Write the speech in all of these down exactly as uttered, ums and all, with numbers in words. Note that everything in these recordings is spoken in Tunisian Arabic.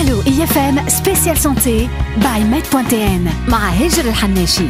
Allô I F M spécial santé by med point T N مع هاجر الحناشي.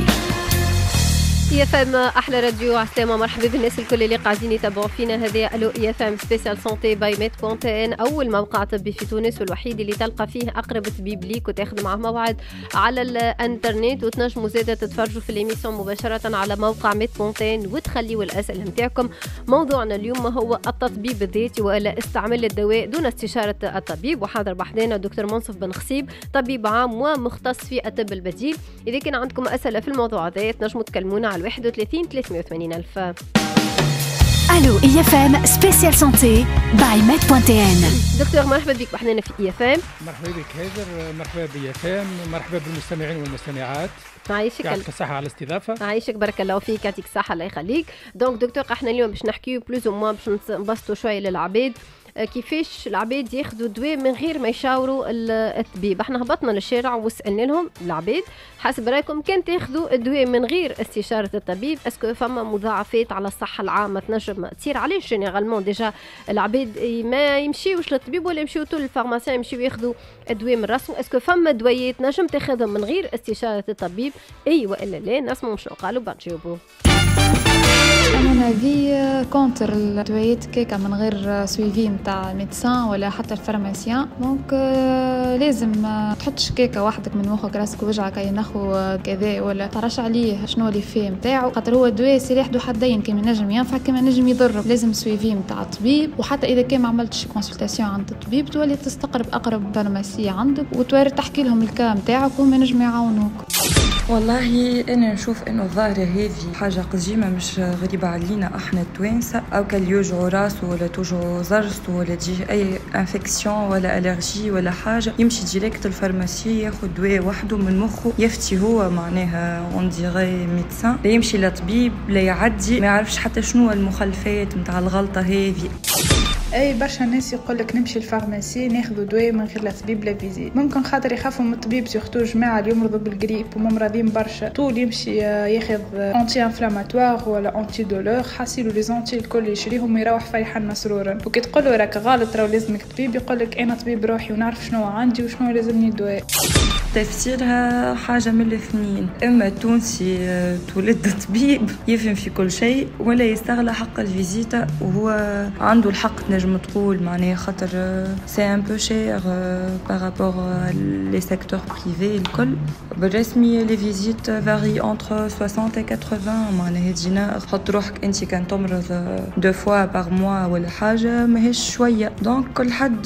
I F M احلى راديو، عسلامة، مرحبا بالناس الكل اللي قاعدين يتابعوا فينا. هذه Allô I F M spécial santé by med point T N، اول موقع طبي في تونس والوحيد اللي تلقى فيه اقرب طبيب ليك وتاخذ معه موعد على الانترنت، وتنجموا زاده تتفرجوا في l'émission مباشرة على موقع med point T N وتخليوا الاسئلة نتاعكم. موضوعنا اليوم هو التطبيب الذاتي والا استعمال الدواء دون استشاره الطبيب، وحاضر بحذانا دكتور منصف بن خصيب، طبيب عام ومختص في الطب البديل. اذا كان عندكم اسئلة في الموضوع هذا تنجموا تكلمونا على واحد وثلاثين ثلاثمية وثمانين ألف. Allô I F M spécial santé by med point T N. دكتور، مرحبا بك بحذانا في I F M. مرحبا بك هاجر، مرحبا ب I F M، مرحبا بالمستمعين والمستمعات. عايشك. يعطيك الصحة على الاستضافة. عايشك، بارك الله فيك، يعطيك الصحة، الله يخليك. donc دكتور، احنا اليوم باش نحكيو plus ou moins باش نبسطوا شوية للعباد آه، كيفاش العباد ياخذوا دواء من غير ما يشاوروا الطبيب. احنا هبطنا للشارع وسالنا لهم العباد: حسب رايكم كان تاخذوا الدواء من غير استشاره الطبيب، est-ce que فما مضاعفات على الصحة العامة تنجم تصير؟ علاش généralement déjà العباد ما يمشيوش للطبيب ولا يمشيو طول لل pharmacien، يمشيو ياخذوا الدواء من راسهم؟ est-ce que فما دوايات نجم تاخذهم من غير استشاره الطبيب، اي والا لا؟ نسمعوا شنو قالوا بعد نجاوبوا. à mon avis contre. الدوايات كيكا من غير suivi نتاع médecin ولا حتى ال pharmacien، donc لازم تحطش كيكة وحدك من مخك، راسك وجعك اي ناخو كذا، ولا تعرفش عليه شنو les effets نتاعو، خاطر هو الدواء سلاح ذو حدين، كيما نجم ينفع كيما نجم يضر. لازم suivi نتاع الطبيب، وحتى اذا كان ما عملتش consultation عند الطبيب تولي تستقرب اقرب pharmacie عندك وتوري تحكي لهم ال cas نتاعك وهم ينجموا يعاونوك. والله انا نشوف انه الظاهرة هذه حاجة قديمه، مش غريبة علينا احنا التوانسه، او كان يوجعوا راسه ولا توجعوا ضرسته ولا تجيه اي infection ولا allergie ولا حاجه، يمشي direct ال pharmacie ياخذ دواء وحده من مخه، يفتي هو معناها on dirait médecin، لا يمشي لطبيب لا يعدي، ما يعرفش حتى شنو المخلفات نتاع الغلطة هذه. اي، برشا ناس يقول لك نمشي ال pharmacie ناخذ دواء من غير لا طبيب لا visite، ممكن خاطر يخافوا من الطبيب، surtout جماعة اللي يمرضوا بالقريب وممرضين برشا، طول يمشي ياخذ anti-inflammatoire ولا anti-douleur، حاسيلو les anti الكل يشريهم ويروح فرحان مسرورا. وكي تقول له راك غلط، راهو لازمك طبيب، يقول لك انا طبيب روحي ونعرف شنو عندي وشنو لازمني دواء. تفسيرها حاجة من الاثنين: إما التونسي تولد طبيب يفهم في كل شيء، ولا يستغلى حق ال visite وهو عنده الحق، تنجم تقول معناها خاطر c'est un peu cher par rapport les secteurs privés الكل. بالرسمي les visites varient entre soixante et quatre-vingts معناها دينار. حط روحك انت كان تمرض deux fois par mois ولا حاجة، ماهيش شوية. donc كل حد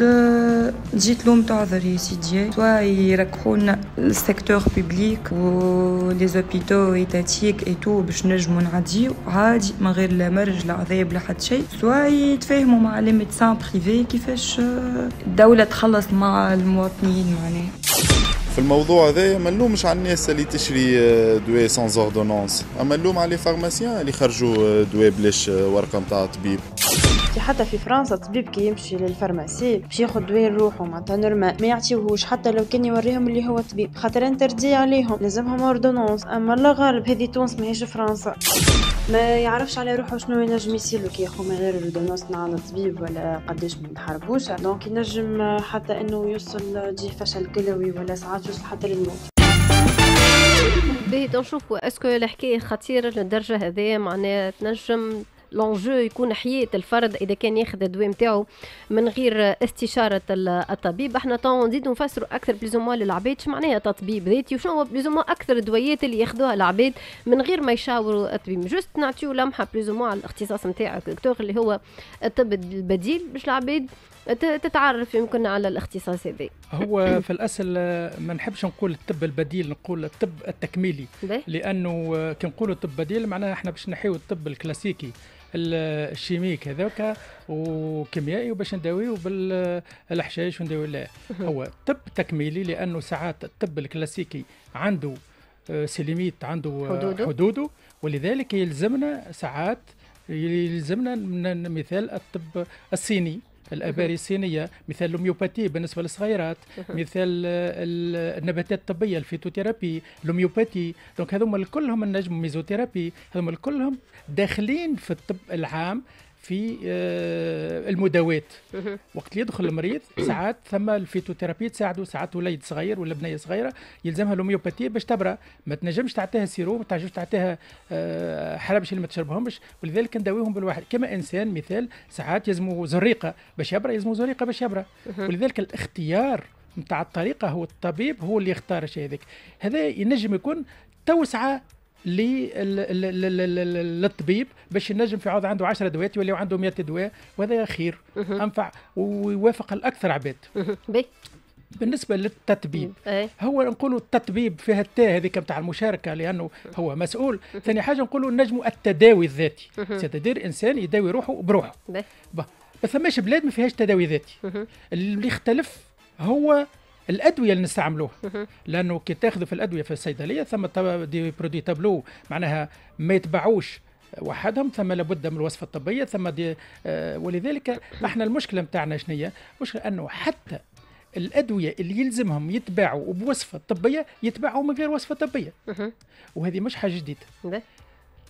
تجي تلوم تعذر يا سيدي، soit يركحونا ال secteur public و les hôpitaux étatiques et tout باش نجمو نعديو عادي من غير لا مرج لا عذاب لا حد شيء، soit يتفاهموا مع les médecins privés كيفاش الدولة تخلص مع المواطنين معناها. في الموضوع هذايا ما نلومش على الناس اللي تشري دواء sans ordonnance، اما نلوم على les pharmaciens اللي خرجوا دواء بلاش ورقة نتاع طبيب. حتى في فرنسا الطبيب كي يمشي لل pharmacie باش ياخذ دواء لروحه معناتها normal ما يعطيوهوش، حتى لو كان يوريهم اللي هو طبيب، خاطر interdit عليهم، لازمهم ordonnance. اما الله غالب، هذه تونس ماهيش فرنسا. ما يعرفش على روحه شنو ينجم يصير له كي ياخذ من غير ordonnance مع الطبيب ولا قداش من حربوشه، donc ينجم حتى انه يوصل تجيه فشل كلوي ولا ساعات يوصل حتى للموت. باهي، نشوفوا est-ce que الحكاية خطيرة للدرجة هذه، معناها تنجم l'enjeu يكون حياة الفرد اذا كان ياخذ الدواء نتاعو من غير استشاره الطبيب. احنا تو نزيدو نفسروا اكثر plus ou moins للعباد شو معناها تطبيب ذاتي وشنو هو plus ou moins اكثر الدويات اللي ياخذوها العباد من غير ما يشاوروا الطبيب. juste نعطيو لمحه plus ou moins على الاختصاص نتاعك دكتور، اللي هو الطب البديل، باش العباد تتعرف يمكن على الاختصاص هذا. هو في الاصل ما نحبش نقول الطب البديل، نقول الطب التكميلي، لانه كي نقولوا الطب بديل معناها احنا باش نحيو الطب الكلاسيكي ال chimique هذاك وكيميائي وباش نداويو بالحشائش ونداويو. لا، هو طب تكميلي، لانه ساعات الطب الكلاسيكي عنده آه، ses limites، عنده حدوده, حدوده ولذلك يلزمنا ساعات يلزمنا من مثال الطب الصيني، الاباري الصينيه، مثال l'homéopathie بالنسبة للصغيرات، مثال النباتات الطبيه، ال phytothérapie، l'homéopathie. donc هذوما كلهم النجم، ميزوثيرابي، هذوما كلهم داخلين في الطب العام. في المداوات. وقت اللي يدخل المريض ساعات ثم ال phytothérapie تساعده، ساعات وليد صغير ولا بنيه صغيرة يلزمها l'homéopathie باش تبرى، ما تنجمش تعطيها sirop، ما تنجمش تعطيها حرابش اللي ما تشربهمش، ولذلك نداويهم بالواحد. كما انسان مثال ساعات يلزموا زريقه باش يبرى، يلزموا زريقه باش يبرى. ولذلك الاختيار نتاع الطريقة هو الطبيب هو اللي يختار الشيء هذاك. هذا ينجم يكون توسعه للطبيب باش ينجم في عوض عنده عشرة دوات يولي عنده مية دواء، وهذا خير انفع ويوافق الاكثر عباد. بالنسبة للتطبيب هو نقولوا التطبيب فيها التاء هذيك نتاع المشاركة لانه هو مسؤول. ثاني حاجة نقولوا نجموا التداوي الذاتي، c'est-à-dire انسان يداوي روحه بروحه. ما ثماش بلاد ما فيهاش تداوي ذاتي. اللي يختلف هو الادوية اللي نستعملوها، لانه كي تاخذوا في الادوية في الصيدلية ثم des produits tableau معناها ما يتباعوش وحدهم، ثم لابد من الوصفة الطبية، ثم des آه ولذلك احنا المشكلة نتاعنا شنو هي؟ المشكلة انه حتى الادوية اللي يلزمهم يتباعوا بوصفه طبية يتباعوا من غير وصفه طبية، وهذه مش حاجة جديدة.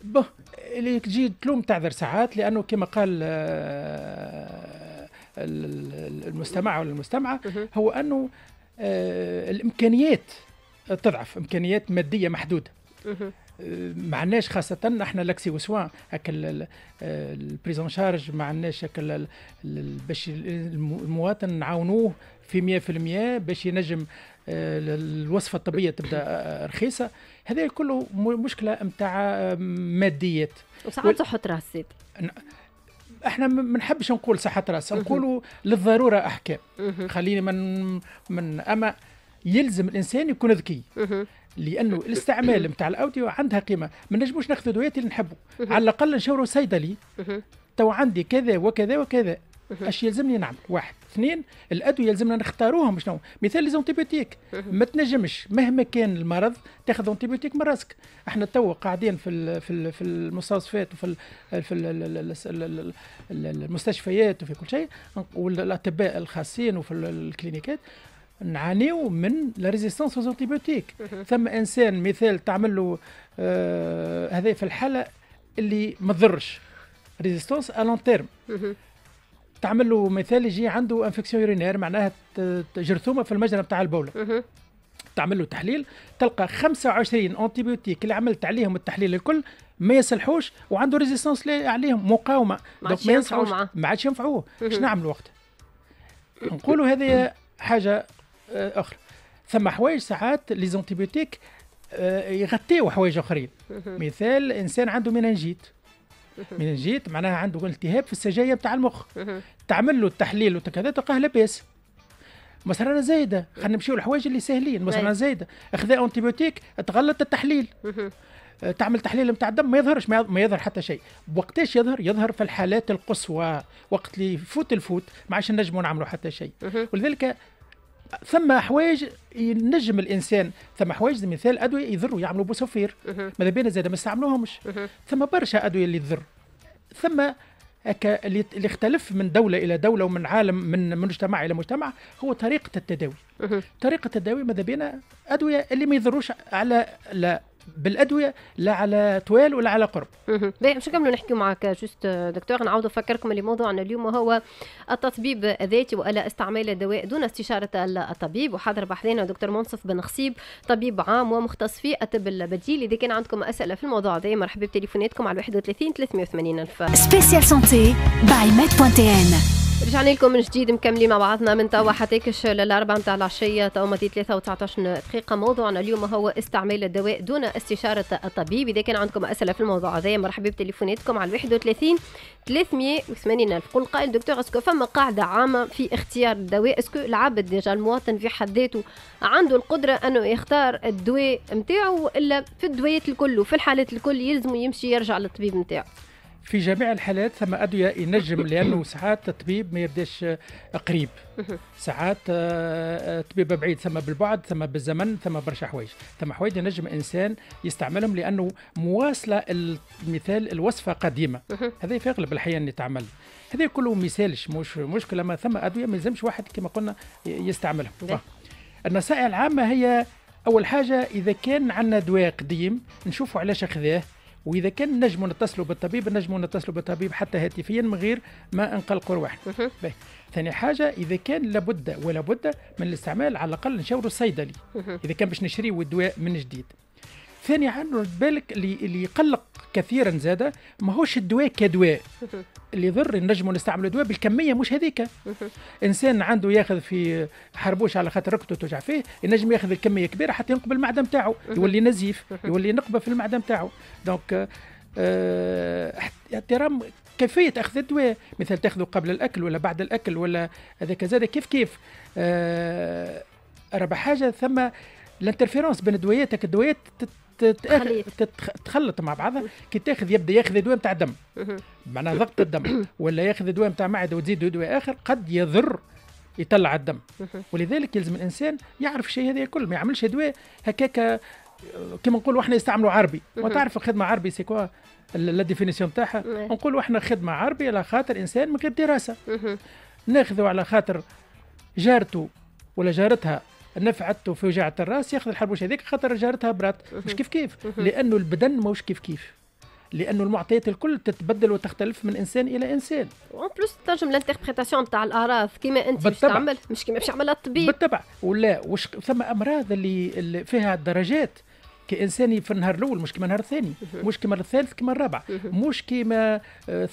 به اللي تجي تلوم تعذر ساعات، لانه كما قال آه المستمع ولا المستمعة هو انه آه الامكانيات تضعف، امكانيات مادية محدودة. آه ما عندناش خاصة احنا l'accès aux soins هكا ال prise en charge، ما عندناش هكا باش المواطن نعاونوه في مية في المية باش ينجم آه الوصفة الطبية تبدا رخيصة. هذا كله مشكلة نتاع ماديات وساعات صحة راس. احنا ما نحبش نقول صحة راس، نقولوا للضرورة احكام. خليني من من اما يلزم الانسان يكون ذكي، لانه الاستعمال نتاع الاوديو عندها قيمة. ما نجموش ناخذ دويات اللي نحبوا، على الاقل نشاوروا صيدلي تو عندي كذا وكذا وكذا، اش يلزمني نعمل؟ واحد، اثنين، الادوية يلزمنا نختاروهم شنو؟ مثال les antibiotiques، ما تنجمش مهما كان المرض تاخذ antibiotique من راسك. احنا تو قاعدين في في في المستوصفات وفي في المستشفيات وفي كل شيء، والاطباء الخاصين وفي الكلينيكات نعانيو من la résistance aux antibiotiques. ثم انسان مثال تعمل له آه هذا في الحالة اللي ما تضرش، résistance à long terme، تعمل له مثال يجي عنده infection urinaire معناها جرثومة في المجرى نتاع البوله، تعمل له تحليل تلقى خمسة وعشرين antibiotiques اللي عملت عليهم التحليل الكل ما يصلحوش، وعنده résistance عليهم، مقاومة، donc ما ينفعوش، ما عادش ينفعوه. اش نعمل وقتها؟ نقولوا هذه حاجة اخرى. ثم حوايج ساعات les antibiotiques يغطيو حوايج اخرين. مثال انسان عنده méningite، méningite معناها عنده التهاب في السجايا بتاع المخ، تعمل له التحليل وكذا تلقاه لاباس. مصرانه زايدة، خلينا نمشيو للحوايج اللي ساهلين. مصرانه زايدة، اخذ antibiotique تغلط التحليل، تعمل تحليل نتاع الدم ما يظهرش، ما يظهر حتى شيء. وقتاش يظهر؟ يظهر في الحالات القصوى، وقت اللي يفوت الفوت ما عادش نجموا نعملوا حتى شيء. ولذلك ثم حوايج ينجم الانسان، ثم حوايج مثال ادوية يضروا يعملوا بوصفير، ماذا بينا زاد ما نستعملوهمش. ثم برشا ادوية اللي تضر، ثم اللي اختلف من دولة الى دولة ومن عالم من مجتمع الى مجتمع هو طريقه التداوي. طريقه التداوي ماذا بينا ادوية اللي ما يضروش على لا بالادوية لا على طوال ولا على قرب. باهي، باش نكملوا نحكيو معك juste دكتور، نعاودوا نفكركم اللي موضوعنا اليوم هو التطبيب الذاتي والا استعمال الدواء دون استشاره الطبيب، وحاضر بحذانا دكتور منصف بن خصيب طبيب عام ومختص في الطب البديل. اذا كان عندكم اسئلة في الموضوع هذا مرحبا بتليفوناتكم على واحد وثلاثين ثلاثمية وثمانين الف. spécial santé by med point tn. رجعنا لكم من جديد مكملين مع بعضنا من توا حتى كش للأربعة نتاع العشية، توا ماضي ثلاثة وتسعطاش دقيقة. موضوعنا اليوم هو استعمال الدواء دون استشارة الطبيب. إذا كان عندكم أسئلة في الموضوع هذا مرحبا بتليفوناتكم على واحد وثلاثين ثلاثمية وثمانين ألف. قل قائل دكتور est-ce que فما قاعدة عامة في اختيار الدواء؟ est-ce que العبد déjà المواطن في حد ذاته عنده القدرة أنه يختار الدواء نتاعو، وإلا في الدويات الكل وفي الحالات الكل يلزم يمشي يرجع للطبيب نتاعو؟ في جميع الحالات ثم ادوية ينجم، لانه ساعات الطبيب ما يبداش قريب، ساعات الطبيب بعيد، ثم بالبعد، ثم بالزمن، ثم برشا حوايج، ثم حوايج ينجم انسان يستعملهم لانه مواصلة المثال الوصفة قديمة، هذا في اغلب الاحيان يتعمل. هذا كله مثالش مش مشكلة، ما ثم ادوية ما يلزمش واحد كما قلنا يستعملهم. النصائح العامة هي اول حاجة اذا كان عندنا دواء قديم نشوفوا علاش اخذاه واذا كان نجموا نتصلوا بالطبيب نجموا نتصلوا بالطبيب حتى هاتفيا من غير ما نقلقوا رواحنا. ثاني حاجة اذا كان لابد ولا بد من الاستعمال على الاقل نشاوروا الصيدلي اذا كان باش نشريوا الدواء من جديد. ثاني حاجة رد بالك اللي اللي يقلق كثيرا زاده ماهوش الدواء كدواء اللي يضر، نجموا نستعملوا دواء بالكمية مش هذيك. انسان عنده ياخذ في حربوش على خاطر ركبته توجع فيه، ينجم ياخذ الكمية كبيرة حتى ينقب المعدة نتاعو، يولي نزيف، يولي نقبه في المعدة نتاعو. donc اه احترام كيفية اخذ الدواء، مثل تاخذه قبل الاكل ولا بعد الاكل ولا هذاك زاد كيف كيف. اه رابع حاجة ثم l'interférence بين الدويات، الدويات تتخلط مع بعضها. كي تاخذ يبدا ياخذ دواء نتاع دم معناها ضغط الدم ولا ياخذ دواء نتاع معده وتزيد دواء اخر قد يضر يطلع الدم. ولذلك يلزم الانسان يعرف الشيء هذا الكل، ما يعملش دواء هكاك كما نقولوا احنا يستعملوا عربي. وتعرف الخدمة عربي c'est quoi la définition تاعها؟ نقولوا احنا خدمة عربي على خاطر انسان من غير دراسة، ناخذه على خاطر جارته ولا جارتها نفعته في وجعة الراس ياخذ الحربوش هذيك خاطر جارتها برات. مش كيف كيف، لانه البدن ماهوش كيف كيف، لانه المعطيات الكل تتبدل وتختلف من انسان الى انسان. en plus تنجم l'interprétation تاع الاعراض كيما انت باش تعمل مش كيما باش يعملها الطبيب. بالطبع. ولا وش ثم امراض اللي, اللي فيها درجات، كإنسان في النهار الاول مش كما النهار الثاني، مش كما الثالث كما الرابع، مش كما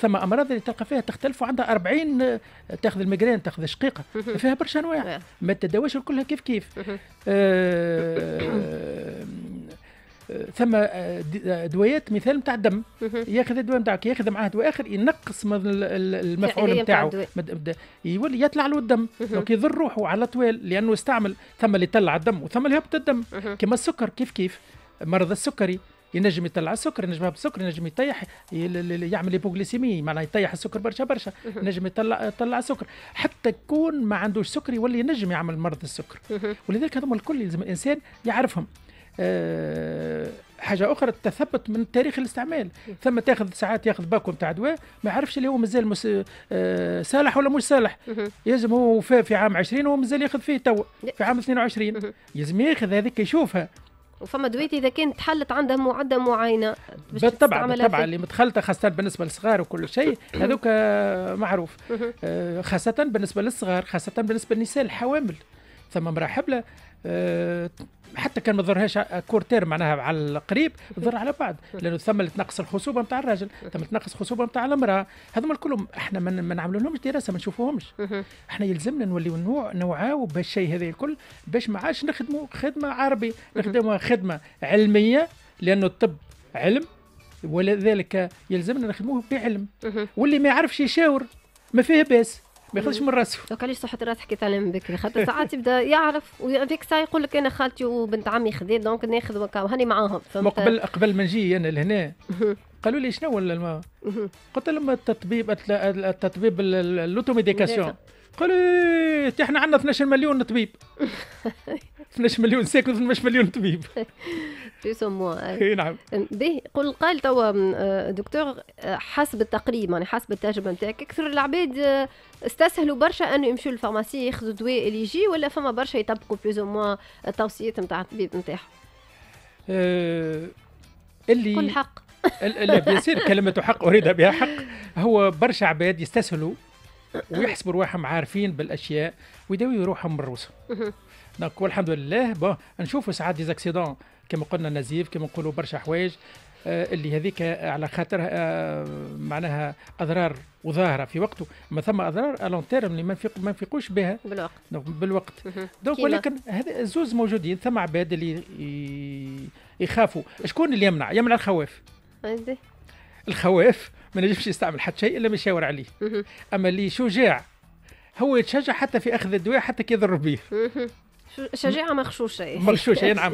ثم امراض اللي تلقى فيها تختلف وعندها أربعين، تاخذ ال migraine تاخذ الشقيقة، فيها برشا انواع ما تداواش كلها كيف كيف. آه ثم دوايات مثال نتاع الدم، ياخذ الدواء نتاعك ياخذ معاه دواء اخر ينقص من المفعول نتاعو، يولي يطلع له الدم، donc يضر روحه على طوال لانه استعمل. ثم اللي يطلع الدم وثم اللي يهبط الدم، كما السكر كيف كيف، مرض السكري ينجم يطلع السكر، ينجم يهبط السكر، ينجم يطيح يعمل hypoglycémie معناها يطيح السكر برشا برشا، ينجم يطلع يطلع السكر حتى يكون ما عندوش سكر يولي ينجم يعمل مرض السكر. ولذلك هذوما الكل لازم الانسان يعرفهم. أه حاجة اخرى التثبت من تاريخ الاستعمال. ثم تاخذ ساعات ياخذ باكو نتاع دواء ما يعرفش اللي هو مازال مس... أه صالح ولا مش صالح. يلزم هو وفاه في عام عشرين وهو مازال ياخذ فيه تو في عام اثنين وعشرين، يلزم ياخذ هذيك يشوفها. وفما دويت اذا كانت تحلت عندها معده معينة بالطبع بالطبع اللي متخلطه خاصة بالنسبة للصغار وكل شيء هذوك معروف، أه خاصة بالنسبة للصغار، خاصة بالنسبة للنساء الحوامل. ثم امراة حبلة أه حتى كان ما ضرهاش court terme معناها على القريب تضر على بعد، لانه ثم اللي تنقص الخصوبة نتاع الراجل، ثم تنقص الخصوبة نتاع المراة، هذوما الكلهم احنا ما نعملوا لهمش دراسة، ما نشوفوهمش. احنا يلزمنا نوليو نوع نوعاو بالشيء هذا الكل باش ما عادش نخدموا خدمة عربي، نخدموا خدمة علمية، لانه الطب علم ولذلك يلزمنا نخدموه بعلم. واللي ما يعرفش يشاور ما فيه باس، ما ياخذش من راسه. donc علاش صحة الراس حكيت عليها من بكري، خاطر ساعات يبدا يعرف وفيك ساعة يقول لك انا خالتي وبنت عمي خذيت donc ناخذ وهاني معاهم. قبل قبل ما نجي انا لهنا قالوا لي شنو ولا الماء؟ قلت لهم التطبيب التطبيب l'automédication. قالوا لي احنا عندنا اثناش مليون طبيب. اثناش مليون ساكن اثناش مليون طبيب. plus ou moins. اي نعم. باهي قل قال توا دكتور، حسب التقريب يعني حسب التجربة نتاعك اكثر العباد استسهلوا برشا انه يمشوا لل pharmacie ياخذوا الدواء اللي يجي، ولا فما برشا يطبقوا plus ou moins التوصيات نتاع الطبيب نتاعهم؟ أه اللي كل حق. لا bien sûr كلمة حق اريد بها حق. هو برشا عباد يستسهلوا ويحسبوا رواحهم عارفين بالاشياء ويداويوا روحهم من روسهم. donc والحمد لله bon نشوفوا ساعات des accidents كما قلنا نزيف، كما نقولوا برشا حوايج آه اللي هذيك على خاطرها آه معناها اضرار وظاهره في وقته، ما ثم اضرار à long terme اللي ما نفيق ما نفيقوش بها بالوقت بالوقت. donc ولكن هذا الزوز موجودين. ثم عباد اللي يخافوا. شكون اللي يمنع؟ يمنع الخواف. الخواف ما نجمش يستعمل حتى شيء الا ما يشاور عليه. اما اللي شجاع هو يتشجع حتى في اخذ الدواء حتى كي يضر به. شجاعة مغشوشه. مغشوشه نعم.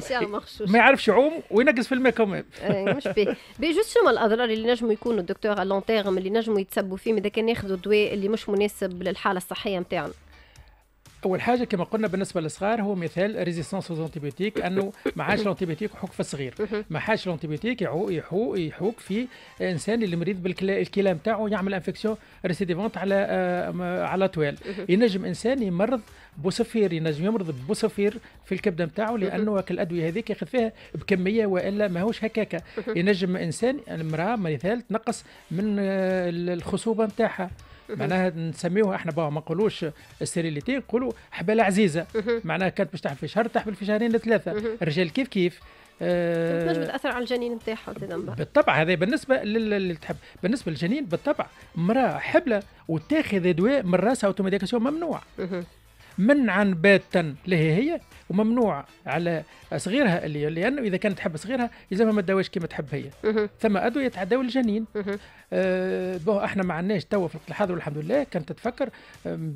ما يعرفش يعوم وينقص في الماء كمان. مش باهي. باهي juste شنو الاضرار اللي نجموا يكونوا دكتور à long terme اللي نجموا يتسبوا فيه اذا كان ياخذوا الدواء اللي مش مناسب للحالة الصحية نتاعنا؟ اول حاجة كما قلنا بالنسبة للصغار هو مثال résistance aux antibiotiques، انه ما عادش l'antibiotique يحوك في الصغير، ما عادش l'antibiotique يحوك يحوك في انسان اللي مريض بالكلى نتاعو يعمل infection récidivante على على طوال. ينجم انسان يمرض بوصفير، ينجم يمرض بوصفير في الكبده نتاعو لانه الادوية هذيك ياخذ فيها بكمية والا ماهوش هكاكا. ينجم انسان المراة مثال تنقص من الخصوبة نتاعها، معناها نسميوها احنا ما نقولوش stérilité، نقولوا حباله عزيزه، معناها كانت باش تحمل في شهر تحمل في شهرين لثلاثة. الرجال كيف كيف أه تنجم تاثر على الجنين نتاعها بالطبع. هذا بالنسبة للي تحب، بالنسبة للجنين بالطبع امراة حبلة وتاخذ دواء من راسها automédication ممنوع منعا باتا لها هي، وممنوع على صغيرها اللي لانه اذا كانت تحب صغيرها يلزمها ما تداويش كما تحب هي. ثم ادوية تعداو الجنين. أه bon احنا ما عندناش توا في الوقت الحاضر والحمد لله. كانت تتفكر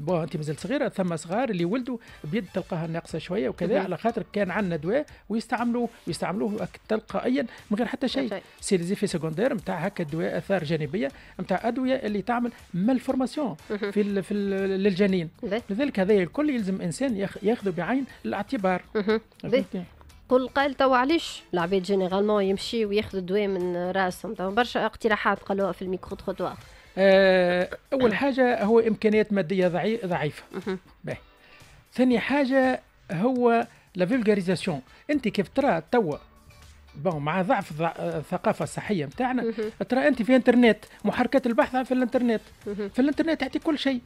bon انت مازلت صغيرة، ثم صغار اللي ولدوا بيد تلقاها ناقصه شوية وكذا، على خاطر كان عندنا دواء ويستعملوه ويستعملوه تلقائيا من غير حتى شيء. c'est les effets secondaires نتاع هكا الدواء، اثار جانبيه نتاع ادوية اللي تعمل malformation في ال في ال للجنين. لذلك هذا الكل يلزم انسان ياخذه بعين الاعتبار. قل قال توا علاش العباد généralement يمشي وياخذوا الدواء من راسهم؟ توا برشا اقتراحات قالوها في ال micro-trottoir. آه اول حاجة هو امكانيات مادية ضعيفة. باهي. ثاني حاجة هو la vulgarisation. انت كيف ترى توا bon مع ضعف الثقافة الصحية نتاعنا، ترى انت في انترنت محركات البحث في الانترنت، في الانترنت يعطيك كل شيء،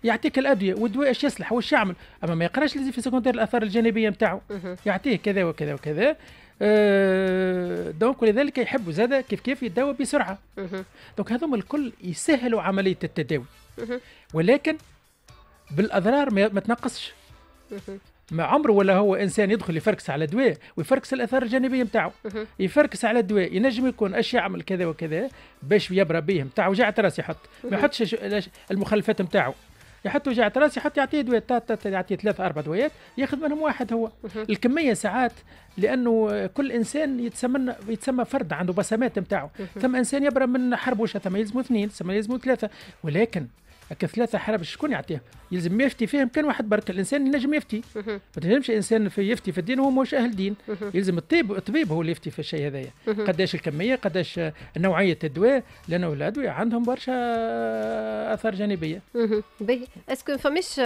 يعطيك الادوية والدواء ايش يصلح واش يعمل، اما ما يقراش les effets secondaires الاثار الجانبية نتاعو، يعطيه كذا وكذا وكذا. أه donc ولذلك يحبوا زاد كيف كيف يتداوى بسرعة. donc هذوما الكل يسهلوا عملية التداوي، ولكن بالاضرار ما تنقصش. ما عمره ولا هو انسان يدخل يفركس على دواء ويفركس الاثار الجانبية نتاعو، يفركس على الدواء ينجم يكون اش يعمل كذا وكذا باش يبرى به نتاع وجعه راس يحط، ما يحطش المخلفات نتاعو، يحط وجعة راس يحط يعطيه دواء، يعطيه ثلاثة أربع دوايات ياخذ منهم واحد هو. الكمية ساعات لأنه كل إنسان يتسمى يتسمى فرد عنده بصمات نتاعو، ثم إنسان يبرى من حربوشة ثم يلزمه اثنين ثم يلزمه ثلاثة، ولكن هكا ثلاثة حرب شكون يعطيهم؟ يلزم يفتي فيهم كان واحد برك، الإنسان ينجم يفتي، ما تنجمش إنسان في يفتي في الدين وهو مش أهل دين، يلزم الطبيب الطبيب هو اللي يفتي في الشيء هذايا، قداش الكمية، قداش نوعية الدواء، لأنه الأدوية عندهم برشا آثار جانبية. باهي، est-ce que فماش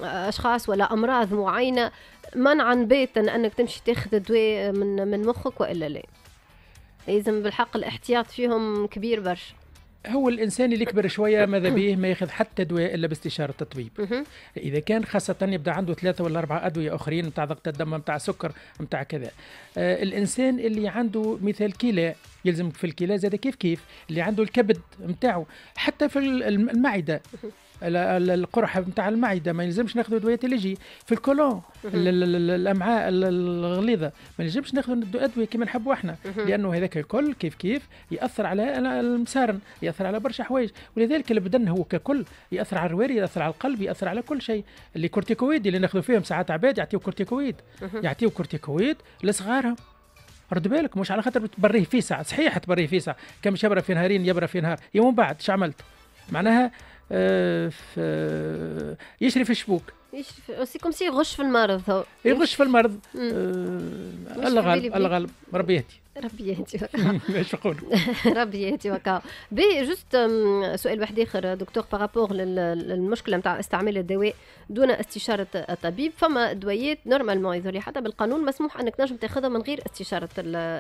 أشخاص ولا أمراض معينة منعا باتا أنك تمشي تاخذ الدواء من من مخك وإلا لا؟ لازم بالحق الاحتياط فيهم كبير برشا. هو الانسان اللي كبر شوية ماذا به ما ياخذ حتى دواء الا باستشاره الطبيب. اذا كان خاصة يبدا عنده ثلاثة ولا اربعة ادوية اخرين نتاع ضغط الدم نتاع سكر نتاع كذا. آه الانسان اللي عنده مثال كلى يلزم في الكلى زاد كيف كيف، اللي عنده الكبد نتاعو حتى في المعدة القرحه نتاع المعدة ما يلزمش ناخذ ادوية اللي يجي في الكولون الامعاء الغليظة ما يلزمش ناخذ ادوية كما نحبوا احنا، لانه هذاك الكل كيف كيف ياثر على المسارن، ياثر على برشا حوايج، ولذلك البدن هو ككل ياثر على الرواري، ياثر على القلب، ياثر على كل شيء. les corticoïdes اللي ناخذوا فيهم ساعات عباد يعطيو كورتيكويد، يعطيو كورتيكويد لصغارهم. رد بالك مش على خاطر تبريه في ساعة، صحيح تبريه في ساعة، كان مش يبرى في نهارين يبرى في نهار، يوم بعد اش عملت؟ معناها آه يشري في الشبوك، يشري c'est comme si يغش في المرض، هو يغش في المرض. آه الله غالب الله غالب، ربي يهدي ربي يهدي ايش نقول ربي يهدي وكا. بي juste سؤال واحد اخر دكتور par rapport للمشكلة نتاع استعمال الدواء دون استشاره الطبيب. فما دويات normalement يظهر حتى بالقانون مسموح انك تنجم تاخذها من غير استشاره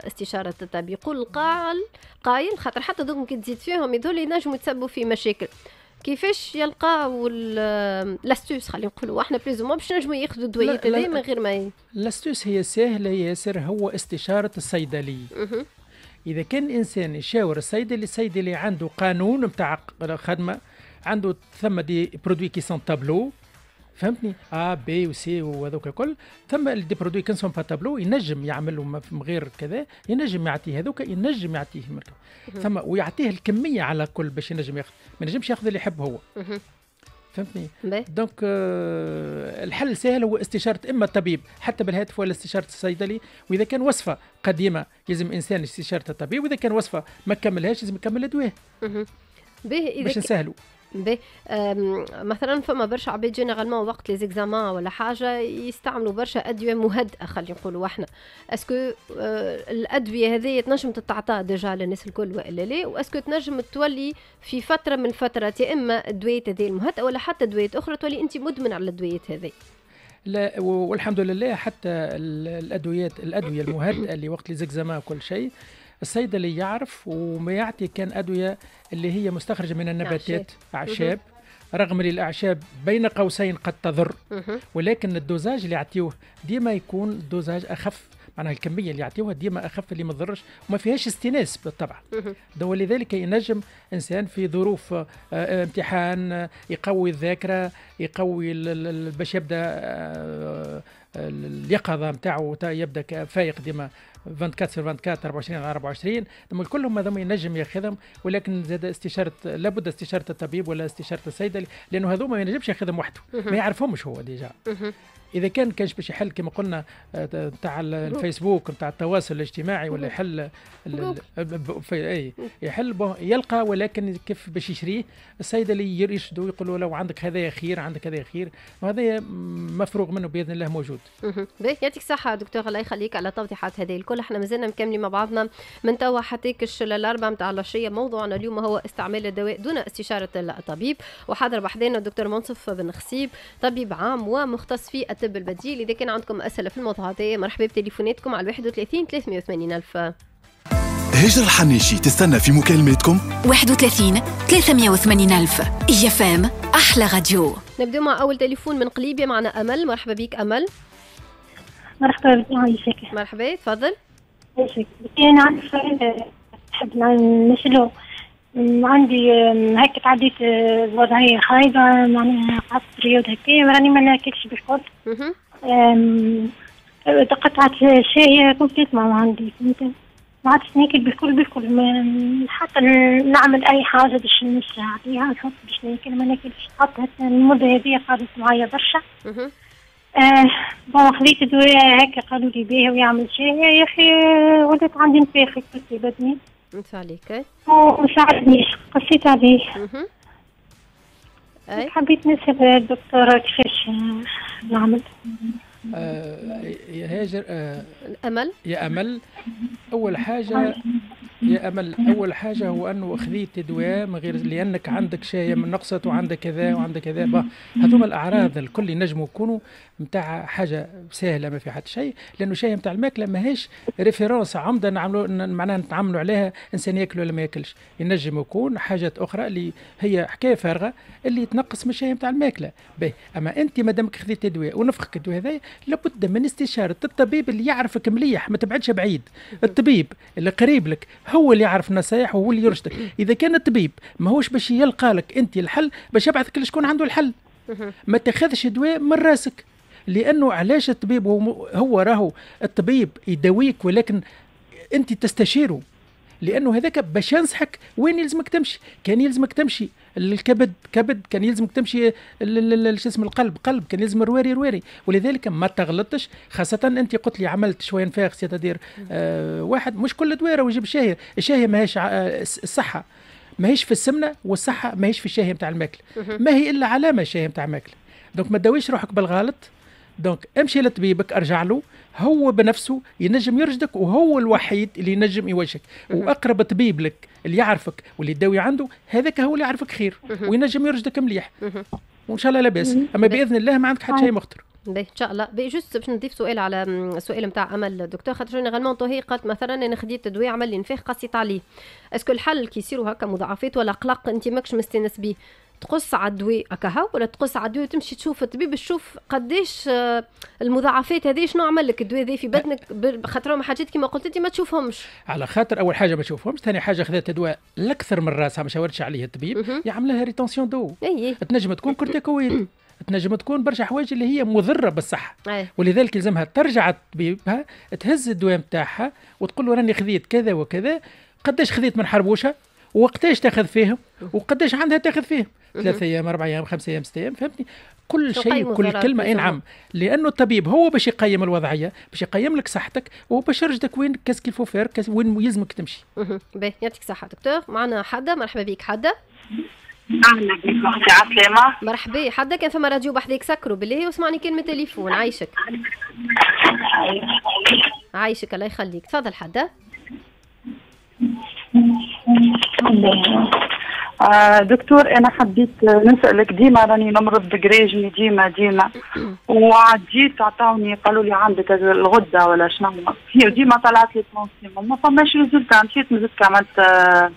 استشاره الطبيب. يقول القائل قايل خاطر حتى دوك كي تزيد فيهم يظهر ينجموا يتسببوا في مشاكل. كيفاش يلقاو l'astuce خلينا نقولوا احنا plus ou moins باش نجموا ياخذوا الدويات هذه من غير ما l'astuce هي ساهله ياسر، هو استشاره الصيدلي. اذا كان الانسان يشاور الصيدلي، الصيدلي عنده قانون نتاع خدمة، عنده ثم des produits qui sont tableau، فهمتني، A B و C وهذوك الكل، ثم des produits qui sont pas tableau ينجم يعملوا من غير كذا، ينجم يعطيه هذوك، ينجم يعطيه مركب. ثم ويعطيه الكمية على كل باش ينجم ياخذ، ما ينجمش ياخذ اللي يحب هو. فهمتني؟ donc آه الحل سهل، هو استشاره اما الطبيب حتى بالهاتف ولا استشاره الصيدلي، واذا كان وصفه قديمة لازم انسان استشاره الطبيب، واذا كان وصفه ما كملهاش لازم يكمل الدواء. باش نسهلوا. باهي، مثلا فما برشا عباد généralement وقت les examens ولا حاجة يستعملوا برشا ادوية مهدئه، خلينا نقولوا احنا، est-ce que آه، الادوية هذه تنجم تتعطى déjà للناس الكل والا لا؟ و est-ce que تنجم تولي في فترة من الفترات يا اما الدويات هذه المهدئه ولا حتى ادويات اخرى تولي انت مدمن على الادويات هذه؟ لا، والحمد لله، حتى الادويات الادوية المهدئه اللي وقت les examens وكل شيء، الصيدلي يعرف وما يعطي كان ادوية اللي هي مستخرجه من النباتات، اعشاب، رغم اللي الاعشاب بين قوسين قد تضر، ولكن ال dosage اللي يعطيوه ديما يكون dosage اخف، معناها الكمية اللي يعطيوها ديما اخف اللي ما تضرش وما فيهاش استئناس بالطبع. ولذلك ينجم انسان في ظروف آه، آه، امتحان يقوي الذاكره، يقوي باش يبدا آه، اليقظة نتاعو، يبدا فايق ديما أربعة وعشرين sur أربعة وعشرين، أربعة وعشرين على أربعة وعشرين. ثم كلهم هذوما ينجم ياخذهم، ولكن زاد استشاره، لابد استشاره الطبيب ولا استشاره الصيدلي، لانه هذوما ما ينجمش ياخذهم وحده، ما يعرفهمش هو déjà. اذا كان كانش باش يحل كما قلنا نتاع الفيسبوك نتاع التواصل الاجتماعي ولا يحل اي يحل يلقى، ولكن كيف باش يشريه؟ الصيدلي يرشدوا، يقولوا لو عندك هذا خير، عندك هذا خير، وهذا مفروغ منه باذن الله موجود. باهي، يعطيك الصحة دكتور، الله يخليك على التوضيحات هذه الكل. احنا مازلنا مكملين مع بعضنا من توا حتى كش للأربعة متاع العشية. موضوعنا اليوم هو استعمال الدواء دون استشارة الطبيب، وحاضر بحذانا الدكتور منصف بن خصيب، طبيب عام ومختص في الطب البديل. إذا كان عندكم أسئلة في الموضوع هذا مرحبا بتليفوناتكم على واحد وثلاثين ثلاثمية وثمانين ألف. هاجر الحنيشي تستنى في مكالماتكم واحد وثلاثين ثلاثمية وثمانين ألف. إي إف إم أحلى راديو. نبدأ مع أول تليفون من قليبيا، معنا أمل. مرحبا بك أمل. مرحبا بك، عايشك. مرحبا، تفضل. عايشك. أنا عندي سؤال نحب نسأله. عندي هكا تعديت بوضعية خايبة، معناها قعدت période هكا راني ما ناكلش بالكل، تقطعت الشهية complètement عندي، فهمت؟ ما عادش ناكل بالكل بالكل، حتى نعمل اي حاجة باش نشري عليها نحط باش ناكل ما ناكلش. حتى المدة هذه قعدت معايا برشا. آه bon خذيت دواء هكا قالوا لي بيه ويعمل شاهية، يا اخي ولات عندي نفاخ في بدني. انت عليك. وما ساعدنيش، قصيت عليه. حبيت نسأل الدكتورة كيفاش نعمل. آه يا هاجر آه امل. يا امل، اول حاجة يا امل، اول حاجة هو انه خذيت دواء من غير، لانك عندك شاهيه من نقصت وعندك كذا وعندك كذا، هذوما الاعراض الكل ينجموا يكونوا نتاع حاجة سهله، ما في حتى شيء، لانه شاهيه نتاع الماكلة ماهيش référence عمده نعملوا معناها نتعاملوا عليها انسان ياكل ولا ما ياكلش. ينجم يكون حاجات اخرى اللي هي حكاية فارغة اللي تنقص من الشاهيه نتاع الماكله. باهي، اما انت مادامك خذيت دواء ونفخك الدواء هذا، لابد من استشاره الطبيب اللي يعرفك مليح، ما تبعدش بعيد. الطبيب اللي قريب لك هو اللي يعرف النصايح وهو اللي يرشدك. اذا كان الطبيب ماهوش باش يلقى لك انت الحل، باش يبعثك لشكون عنده الحل. ما تاخذش دواء من راسك، لانه علاش؟ الطبيب هو, هو راهو الطبيب يداويك، ولكن انت تستشيره، لانه هذاك باش ينصحك وين يلزمك تمشي. كان يلزمك تمشي الكبد كبد، كان يلزمك تمشي شو اسم القلب قلب، كان يلزم الرواري رواري. ولذلك ما تغلطش، خاصة انت قلت لي عملت شوية نفاخ، c'est-à-dire آه واحد مش كل دواء ويجيب شاهية. الشاهية ماهيش آه الصحة ماهيش في السمنة، والصحة ماهيش في الشاهية نتاع الماكلة، ما هي إلا علامة الشاهية نتاع الماكلة. donc ما تداويش روحك بالغلط. donc امشي لطبيبك، ارجع له، هو بنفسه ينجم يرشدك وهو الوحيد اللي ينجم يوجهك. واقرب طبيب لك اللي يعرفك واللي تداوي عنده، هذاك هو اللي يعرفك خير وينجم يرشدك مليح، وان شاء الله لاباس. اما باذن الله ما عندك حتى شيء مخطر. باهي، ان شاء الله. باهي، juste باش نضيف سؤال على السؤال نتاع امل دكتور، خاطر généralement هي قالت مثلا انا خديت دواء عمل لي نفاخ قصيت عليه. est-ce que الحل كي يصيروا هكا مضاعفات ولا قلق انت ماكش مستانس بيه، تقص على الدواء هكا ولا تقص على الدواء وتمشي تشوف الطبيب، تشوف قداش آه، المضاعفات هذه، شنو عمل لك الدواء ذا في بدنك؟ خاطر حاجات كما قلت انت ما تشوفهمش. على خاطر اول حاجة ما تشوفهمش، ثاني حاجة خذت دواء الاكثر من راسها ما شاورتش عليه الطبيب، يعمل لها rétention d'eau. تنجم تكون كورتيكويد، تنجم تكون برشا حوايج اللي هي مضرة بالصحه. أي. ولذلك يلزمها ترجع لطبيبها، تهز الدواء نتاعها وتقول له راني خذيت كذا وكذا، قداش خذيت من حربوشه، وقتاش تاخذ فيهم، وقداش عندها تاخذ فيهم، ثلاثة ايام، اربع ايام، خمسة ايام، ستة ايام، فهمتني؟ كل شيء، كل كلمه. اي نعم، لانه الطبيب هو باش يقيم الوضعيه، باش يقيم لك صحتك وباش يرشدك وين qu'est-ce qu'il faut faire، وين يلزمك تمشي. باهي، يعطيك الصحة دكتور. معنا حدا، مرحبا بك حدا. اهلا بك اختي، عسلامة. مرحبا. حدا كان فما راديو بحذاك سكروا بالله واسمعني كلمة تليفون. عايشك عايشك الله يخليك، تفضل حدا. آه دكتور انا حبيت نسالك، ديما راني نمرض بقريجني ديما ديما وعديت عطاوني قالوا لي عندك الغدة ولا شنو هي، ديما طلعت لي tension ما فماش résultat. مشيت مازلت عملت آه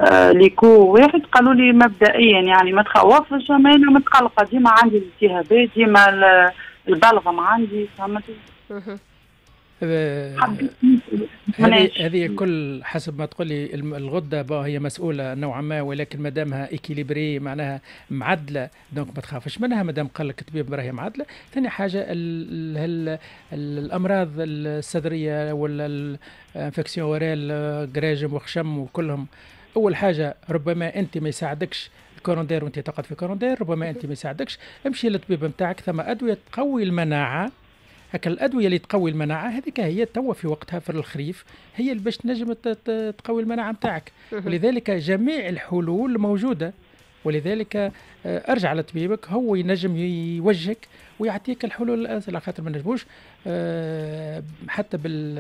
آه l'écho واحد قالوا لي مبدئيا يعني ما تخوفش، اما انا متقلقه ديما عندي الالتهابات ديما البلغم عندي، فهمت؟ هذه هذه كل حسب ما تقولي الغدة هي مسؤولة نوعا ما، ولكن ما دامها équilibrée معناها معدله donc ما تخافش منها ما دام قال لك الطبيب راهي معدله. ثاني حاجة ال ال الامراض الصدرية ولا ال infection ORL قراجم وخشم وكلهم، اول حاجة ربما انت ما يساعدكش ال courant d'air وانت تقعد في courant d'air، ربما انت ما يساعدكش، امشي للطبيب نتاعك، ثم ادوية تقوي المناعة. هكا الادوية اللي تقوي المناعة هذيك هي توا في وقتها في الخريف هي اللي باش تنجم تقوي المناعة نتاعك، ولذلك جميع الحلول موجودة. ولذلك ارجع لطبيبك هو ينجم يوجهك ويعطيك الحلول على خاطر ما نجموش حتى بال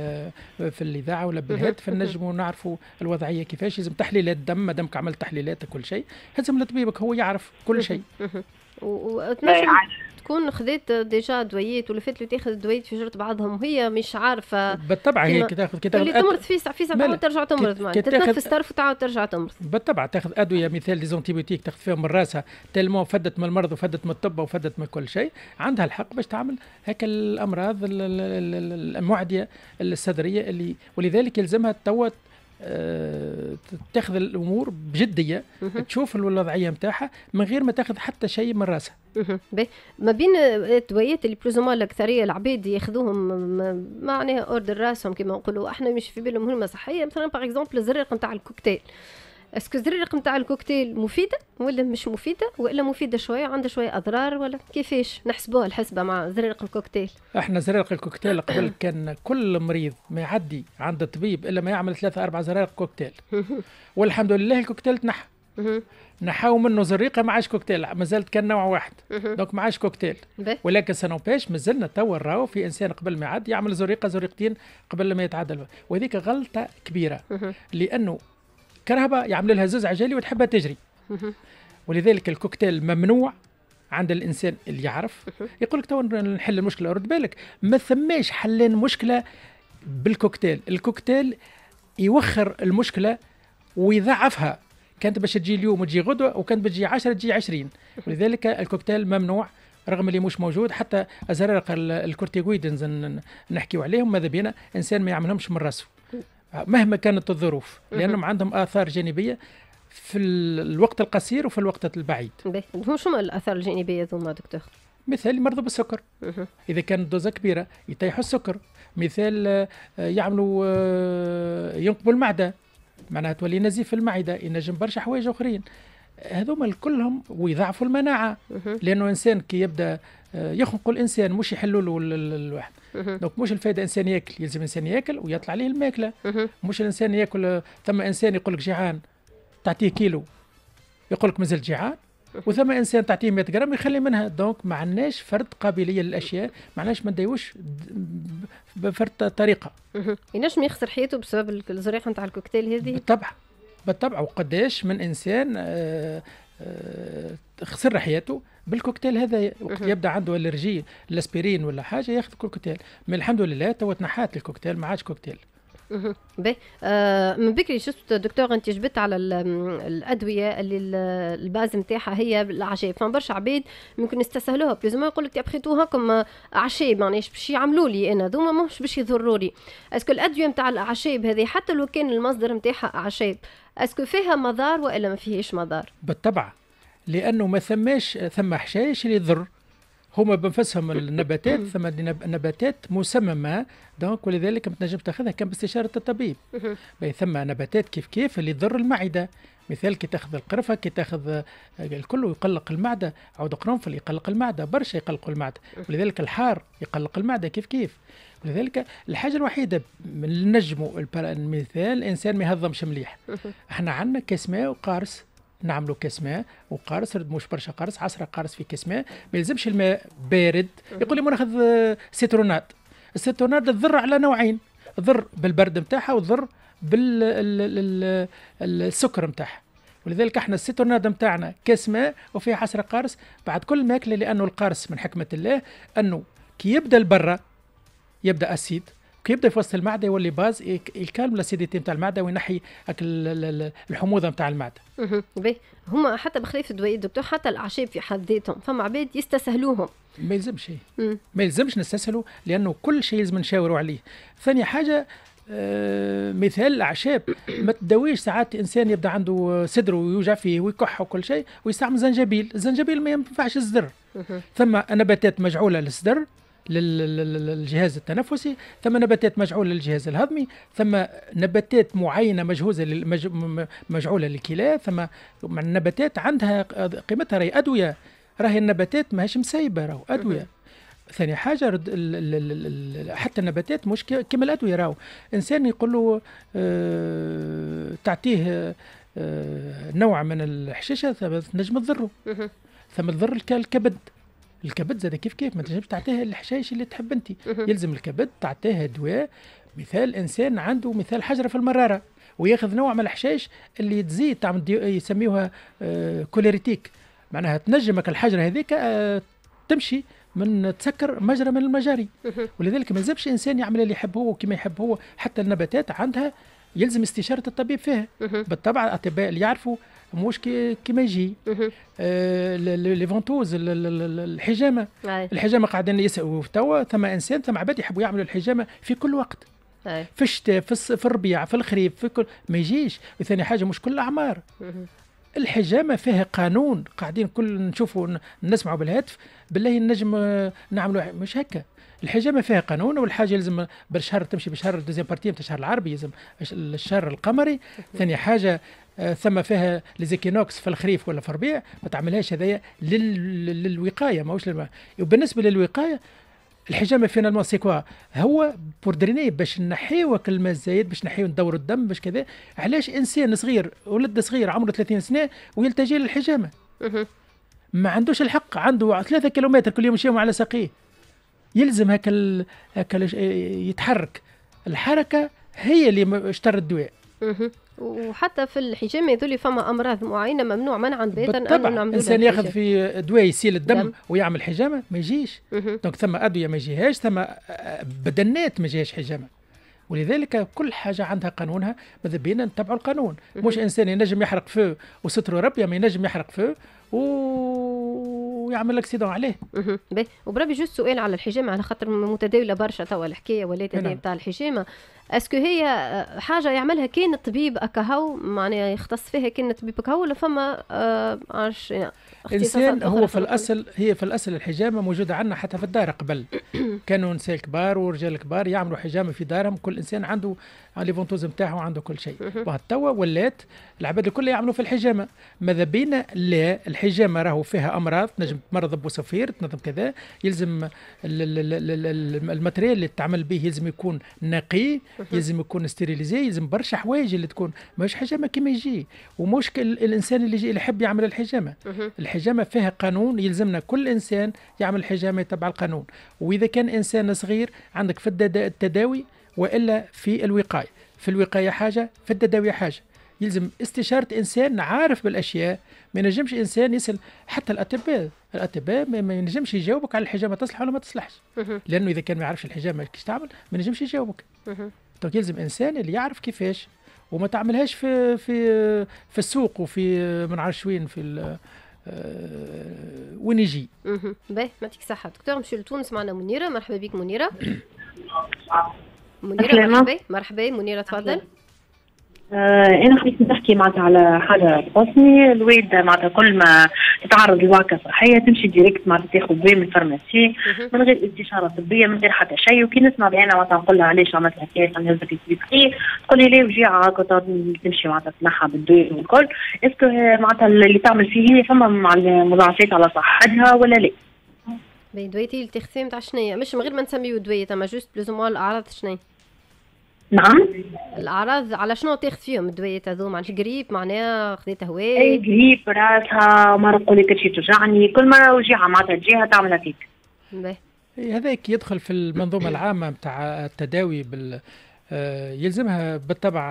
في الاذاعة ولا بالهاتف نجموا نعرفوا الوضعية كيفاش. لازم تحليلات دم، ما دامك عملت تحليلات كل شيء هزم لطبيبك هو يعرف كل شيء. وتنجم تكون خذيت déjà دويات ولا فات تاخذ دويات في جرة بعضهم وهي مش عارفه. بالطبع هي كي تاخذ كي تاخذ اللي تمرض فيسع فيسع تعاود ترجع تمرض، معناتها تتنفس طرف وتعاود ترجع تمرض. بالطبع تاخذ ادوية مثال les antibiotiques تاخذ فيهم من راسها tellement فدت من المرض وفدت من الطب وفدت من كل شيء، عندها الحق باش تعمل هكا الامراض المعدية الصدرية اللي، ولذلك يلزمها توا تاخذ الامور بجدية، تشوف الوضعية نتاعها من غير ما تاخذ حتى شيء من راسها. ما بين الدويات اللي plus ou moins الاكثرية العباد ياخذوهم معناها hors de راسهم كما نقولوا احنا، مش في بالهم هما صحية. مثلا par exemple الزريق نتاع الكوكتيل، est-ce que الزريق نتاع الكوكتيل مفيدة ولا مش مفيدة، والا مفيدة شوية عندها شوية اضرار، ولا كيفاش نحسبوها الحسبة مع زريق الكوكتيل؟ احنا زريق الكوكتيل قبل كان كل مريض ما يعدي عند الطبيب الا ما يعمل ثلاثة اربع زرارق كوكتيل، والحمد لله الكوكتيل تنحى، نحاو منه زريقه ما عادش كوكتيل، مازالت كان نوع واحد donc ما عادش كوكتيل. ولكن ça n'empêche مازلنا توا راهو في انسان قبل ما يعدي يعمل زريقه زريقتين قبل ما يتعدل، وهذيك غلطه كبيرة لانه كرهبة يعمل لها زوز عجالي وتحبها تجري. ولذلك الكوكتيل ممنوع عند الانسان اللي يعرف. يقول لك تو نحل المشكلة، رد بالك ما ثماش حلين مشكلة بالكوكتيل، الكوكتيل يوخر المشكلة ويضعفها، كانت باش تجي اليوم وتجي غدوه، وكانت بتجي عشرة تجي عشرين. ولذلك الكوكتيل ممنوع رغم اللي مش موجود. حتى ازرار ال corticoïdes نحكيو عليهم، ماذا بينا انسان ما يعملهمش من راسه مهما كانت الظروف، لانهم عندهم اثار جانبيه في الوقت القصير وفي الوقت البعيد. شنو الاثار الجانبية ذوما دكتور؟ مثال يمرضوا بالسكر، اذا كانت dose كبيرة يطيحوا السكر، مثال يعملوا ينقبوا المعدة معناها تولي نزيف في المعدة، ينجم برشا حوايج اخرين هذوما كلهم، ويضعفوا المناعة لانه انسان كي يبدا يخنقوا الانسان مش يحلوا له الواحد. donc مش الفائدة انسان ياكل، يلزم انسان ياكل ويطلع عليه الماكلة، مش الانسان ياكل. ثم انسان يقول لك جيعان تعطيه كيلو يقول لك مازال جيعان، وثم انسان تعطيه مية غرام يخلي منها. donc ما عندناش فرد قابلية للاشياء، ما عندناش ما نداوش بفرد طريقه. ينجم يخسر حياته بسبب الزريقه نتاع الكوكتيل هذه؟ بالطبع بالطبع، وقداش من انسان آه آه خسر حياته بالكوكتيل هذا، وقت يبدا عنده allergie الاسبرين ولا حاجة ياخذ كوكتيل. من الحمد لله توا تنحات الكوكتيل، ما عادش كوكتيل. باهي. آه من بكري شفت دكتور انت جبت على الادوية اللي ال base نتاعها هي الاعشاب، فما برشا عباد ممكن يستسهلوها plus ou moins يقول لك après tout هاكم اعشاب معناش باش يعملوا لي انا ذوما مش باش يضروا لي. est-ce que الادوية نتاع الاعشاب هذه حتى لو كان المصدر نتاعها اعشاب، est-ce que فيها مضار والا ما فيهاش مضار؟ بالطبع، لانه ما ثماش ثم حشائش اللي يضر، هما بنفسهم النباتات، ثم نباتات مسممه donc ولذلك ما تنجم تاخذها كان باستشاره الطبيب. ثم نباتات كيف كيف اللي تضر المعدة، مثال كي تاخذ القرفه، كي تاخذ الكل يقلق المعدة، عود قرنفل يقلق المعدة، برشا يقلقوا المعدة، ولذلك الحار يقلق المعدة كيف كيف. ولذلك الحاجة الوحيدة من نجموا المثال الانسان ما يهضمش مليح، احنا عندنا كاس ماء وقارص نعملوا كاس ماء وقارص، مش برشا قارص، عشرة قارص في كاس ماء، ما يلزمش الماء بارد. يقول لي ناخذ citronnade. ال citronnade تضر على نوعين، تضر بالبرد نتاعها وتضر بالسكر نتاعها. ولذلك احنا ال citronnade نتاعنا كاس ماء وفيها عشرة قارص بعد كل ماكله، لانه القارص من حكمه الله انه كي يبدا البرة يبدا acide، كي يبدا في وسط المعدة يولي base، ي calme l'acidité نتاع المعدة وينحي الحموضة نتاع المعدة. باهي، هما حتى بخلاف الدواء دكتور، حتى الاعشاب في حد ذاتهم فما عباد يستسهلوهم. ما يلزمش، ما يلزمش نستسهلوا، لانه كل شيء لازم نشاوروا عليه. ثاني حاجة آه مثال الاعشاب ما تداويش. ساعات انسان يبدا عنده صدره ويوجع فيه ويكح وكل شيء ويستعمل زنجبيل، الزنجبيل ما ينفعش الصدر. ثم نباتات مجعوله للصدر للجهاز التنفسي، ثم نباتات مجعوله للجهاز الهضمي، ثم نباتات معينة مجهوزه للمج... مجعوله للكلى، ثم النباتات عندها قيمتها، راهي ادوية، راهي النباتات ماهيش مسيبه، راهو ادوية. ثاني حاجة رد ال ال ال حتى النباتات مش كما الادوية، راهو انسان يقول له آه تعطيه آه نوع من الحشيشه تنجم تضره، ثم تضر الكبد. الكبد زاد كيف كيف، ما تنجمش تعطيه الحشائش اللي تحب انت، يلزم الكبد تعطيه دواء. مثال انسان عنده مثال حجره في المرارة وياخذ نوع من الحشائش اللي تزيد تعمل يسميوها آه cholérétique، معناها تنجمك الحجرة هذيك آه تمشي من تسكر مجرى من المجاري. ولذلك ما يلزمش انسان يعمل اللي يحب هو وكما يحب هو. حتى النباتات عندها يلزم استشاره الطبيب فيها. بالطبع الاطباء اللي يعرفوا مش كيما يجي. آه les ventouses، الحجامة، الحجامة قاعدين يسالوا توا، ثم انسان ثم عباد يحبوا يعملوا الحجامة في كل وقت، في الشتاء، في, في الربيع، في الخريف، في كل ما يجيش. وثاني حاجة مش كل الاعمار. الحجامة فيها قانون، قاعدين كل نشوفوا نسمعوا بالهاتف بالله نجم نعملوا مش هكا. الحجامة فيها قانون، والحاجة لازم بالشهر تمشي بالشهر deuxième partie نتاع الشهر العربي، لازم الشهر القمري. ثاني حاجة ثم فيها les équinoxes في الخريف ولا في الربيع، ما تعملهاش هذايا لل... للوقايه ماهوش للم... وبالنسبة للوقايه الحجامة finalement c'est quoi؟ هو pour drainer، باش نحيو الماء الزايد، باش نحيو ندوروا الدم، باش كذا. علاش انسان صغير ولد صغير عمره ثلاثين سنة ويلتجي للحجامه؟ ما عندوش الحق، عنده ثلاثة كيلومتر كل يوم يمشيهم على ساقيه، يلزم هكا ال... هكا يتحرك. الحركة هي اللي اشترى الدواء. وحتى في الحجامة يذولي فما امراض معينة ممنوع منعا باتا انه نعملوا. الانسان ياخذ في دواء يسيل الدم دم. ويعمل حجامة ما يجيش. donc ثم ادوية ما يجيهاش، ثم بدنات ما يجيهاش حجامة. ولذلك كل حاجة عندها قانونها، ماذا بينا نتبعوا القانون. مش انسان ينجم يحرق feu وستره ربي، ما ينجم يحرق feu ويعمل accident عليه. باهي، وبربي juste سؤال على الحجامة، على خاطر متداوله برشا توا الحكاية ولات هذه نتاع الحجامة. est-ce que هي حاجة يعملها كان الطبيب اكاهو، معناها يختص فيها كان الطبيب اكاهو، ولا فما آه عرش انسان هو في الاصل؟ هي في الاصل الحجامة موجودة عندنا حتى في الدار قبل. كانوا نساء كبار ورجال كبار يعملوا حجامة في دارهم، كل انسان عنده les ventouses نتاعو عنده كل شيء. توا ولات العباد الكل يعملوا في الحجامة. ماذا بينا لا، الحجامة راهو فيها امراض، تنجم تمرض بوصفير، تنظم كذا، يلزم ال matériel اللي تعمل به يلزم يكون نقي، يلزم يكون stérilisé، يلزم برشا حوايج اللي تكون ماهوش حجامة كيما يجي. ومش الانسان اللي يجي اللي يحب يعمل الحجامة. الحجامة فيها قانون، يلزمنا كل انسان يعمل الحجامة يتبع القانون. واذا كان انسان صغير عندك في التداوي والا في الوقاية، في الوقاية حاجة، في التداوي حاجة. يلزم استشاره انسان عارف بالاشياء، ما ينجمش انسان يسال حتى الاطباء، الاطباء ما ينجمش يجاوبك على الحجامة تصلح ولا ما تصلحش، لانه اذا كان ما يعرفش الحجامة كيفاش تعمل ما ينجمش يجاوبك. donc يلزم انسان اللي يعرف كيفاش، وما تعملهاش في في في السوق وفي ما نعرفش وين، في وين يجي. باهي، يعطيك الصحة دكتور. نمشيو لتونس، معنا منيرة. مرحبا بك منيرة. منيرة مرحبا. مرحبا منيرة، تفضل. آه انا حبيت نحكي معناتها على حاجة تخصني. الوالدة معناتها كل ما تتعرض لوعكه صحية تمشي direct معناتها تاخذ دواء من ال pharmacie من غير استشاره طبية، من غير حتى شيء. وكي نسمع بعينها معناتها نقول لها علاش عملت هكا، نهزك السبيطار، تقول لي لا وجيعه هكا تمشي معناتها تنحى بالدواء والكل. est-ce que معناتها اللي تعمل فيه هي فما مع المضاعفات على صحتها ولا لا؟ باهي، دويتي اللي تاخذ نتاع شنيا؟ مش من غير ما نسميو دوية، اما juste plus ou moins الاعراض شنيا؟ نعم. الاعراض على شنو تاخذ فيهم الدويات هذوما؟ معناها قريب معناها خذيت هواء؟ اي قريب راسها، مرة تقول لي كرشي توجعني، كل مرة وجيعه معناتها تجيها تعملها فيك. باهي. هذاك يدخل في المنظومة العامة نتاع التداوي بال يلزمها بالطبع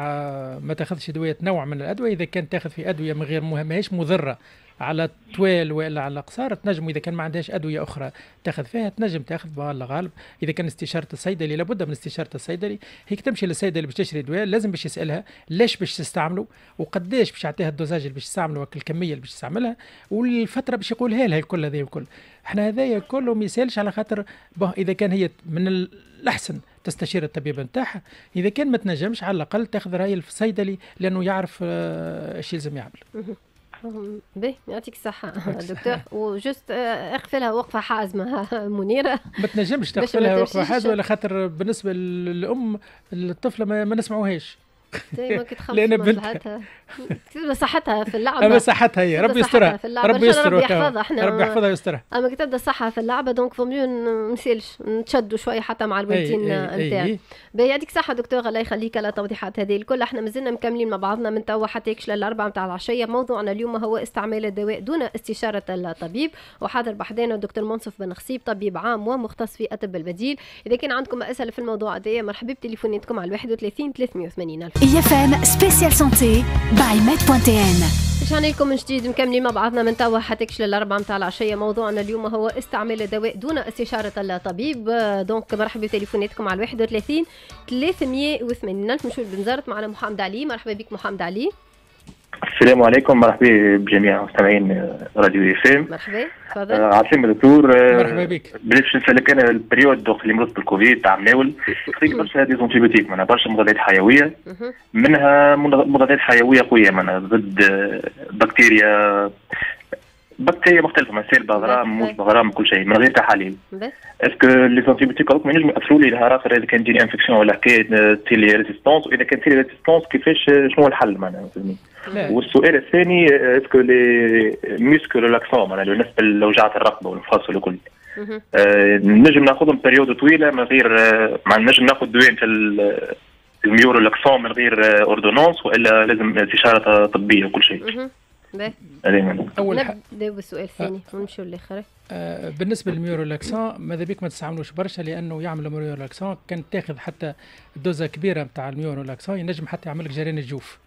ما تاخذش ادوية نوع من الادوية. اذا كان تاخذ في ادوية من غير ماهيش مضرة على الطوال والا على القصار تنجم، اذا كان ما عندهاش ادوية اخرى تاخذ فيها تنجم تاخذ بالله غالب. اذا كان استشاره الصيدلي لابد من استشاره الصيدلي، هيك تمشي للصيدلي باش تشري دواء لازم باش يسالها ليش باش تستعمله وقداش باش يعطيها ال dosage اللي باش تستعمله الكمية اللي باش تستعملها والفترة باش يقولها لها الكل. هذا الكل احنا هذايا كله ما يسالش على خاطر اذا كان هي من الاحسن تستشير الطبيب نتاعها، اذا كان ما تنجمش على الاقل تاخذ راي الصيدلي لانه يعرف ايش يلزم يعمل. باهي يعطيك الصحة دكتور. و juste اغفلها وقفة حازمة منيرة. ما تنجمش تغفلها وقفة حازمة على خاطر بالنسبة للأم الطفلة ما, ما نسمعوهاش. لأن بنتها تبدا صحتها في اللعبة. أما صحتها هي ربي يسترها، ربي يسترها، ربي يحفظها، ربي يحفظها ويسترها. أما كي تبدا صحة في اللعبة donc vaut mieux نسالش نتشدوا شوية حتى مع الوالدين نتاعنا. باهي يعطيك الصحة دكتور، الله يخليك على التوضيحات هذه الكل. احنا مازلنا مكملين مع بعضنا من توا حتى يكش للأربعة نتاع العشية. موضوعنا اليوم هو استعمال الدواء دون استشارة الطبيب، وحاضر بحذانا الدكتور منصف بن خصيب طبيب عام ومختص في الطب البديل. إذا كان عندكم أسئلة في الموضوع هذايا مرحبا بتليفوناتكم على واحد وثلاثين ثلاثمية وثمانين ألف. IFM spécial santé by med point tn. رجعنا لكم من جديد مكملين مع بعضنا من توا حتى كش للأربعة متاع العشية. موضوعنا اليوم هو استعمال الدواء دون استشارة الطبيب. donc مرحبا بتليفوناتكم على واحد وثلاثين ثلاثمية وثمانين ألف. نمشيو لبنزرت معنا محمد علي. مرحبا بك محمد علي. السلام عليكم، مرحبا بجميع مستمعين راديو IFM. مرحبا، تفضل. آه عسلامة دكتور. مرحبا بك. باش نسالك انا ال période وقت اللي مرضت بالكوفيد تاع مناول خذيت برشا des antibiotiques، معناها برشا مضادات حيوية، منها مضادات حيوية قوية معناها ضد بكتيريا بكتيريا مختلفة، مثلا سالبه غرام موجبه غرام كل شيء من غير تحاليل. est-ce que les antibiotiques هذوك ما ينجموا ياثروا لي نهار اخر اذا كان تجيني infection ولا حكاية تصير لي résistance، واذا كان تصير لي résistance كيفاش شنو هو الحل معناها؟ والسؤال الثاني est-ce que les muscles relaxants معناها بالنسبة لوجعه الرقبة والمفاصل وكل أه نجم ناخذهم période طويلة من غير مع نجم ناخذ دواء في ال myorelaxants من غير ordonnance والا لازم استشاره طبية وكل شيء؟ باهي. اول نبداو بالسؤال الثاني ونمشيو للاخر. آه بالنسبة لل myorelaxant ماذا بيك ما تستعملوش برشا لانه يعمل myorelaxant كان تاخذ حتى دوزه كبيرة نتاع ال myorelaxant ينجم حتى يعمل لك جريان الجوف،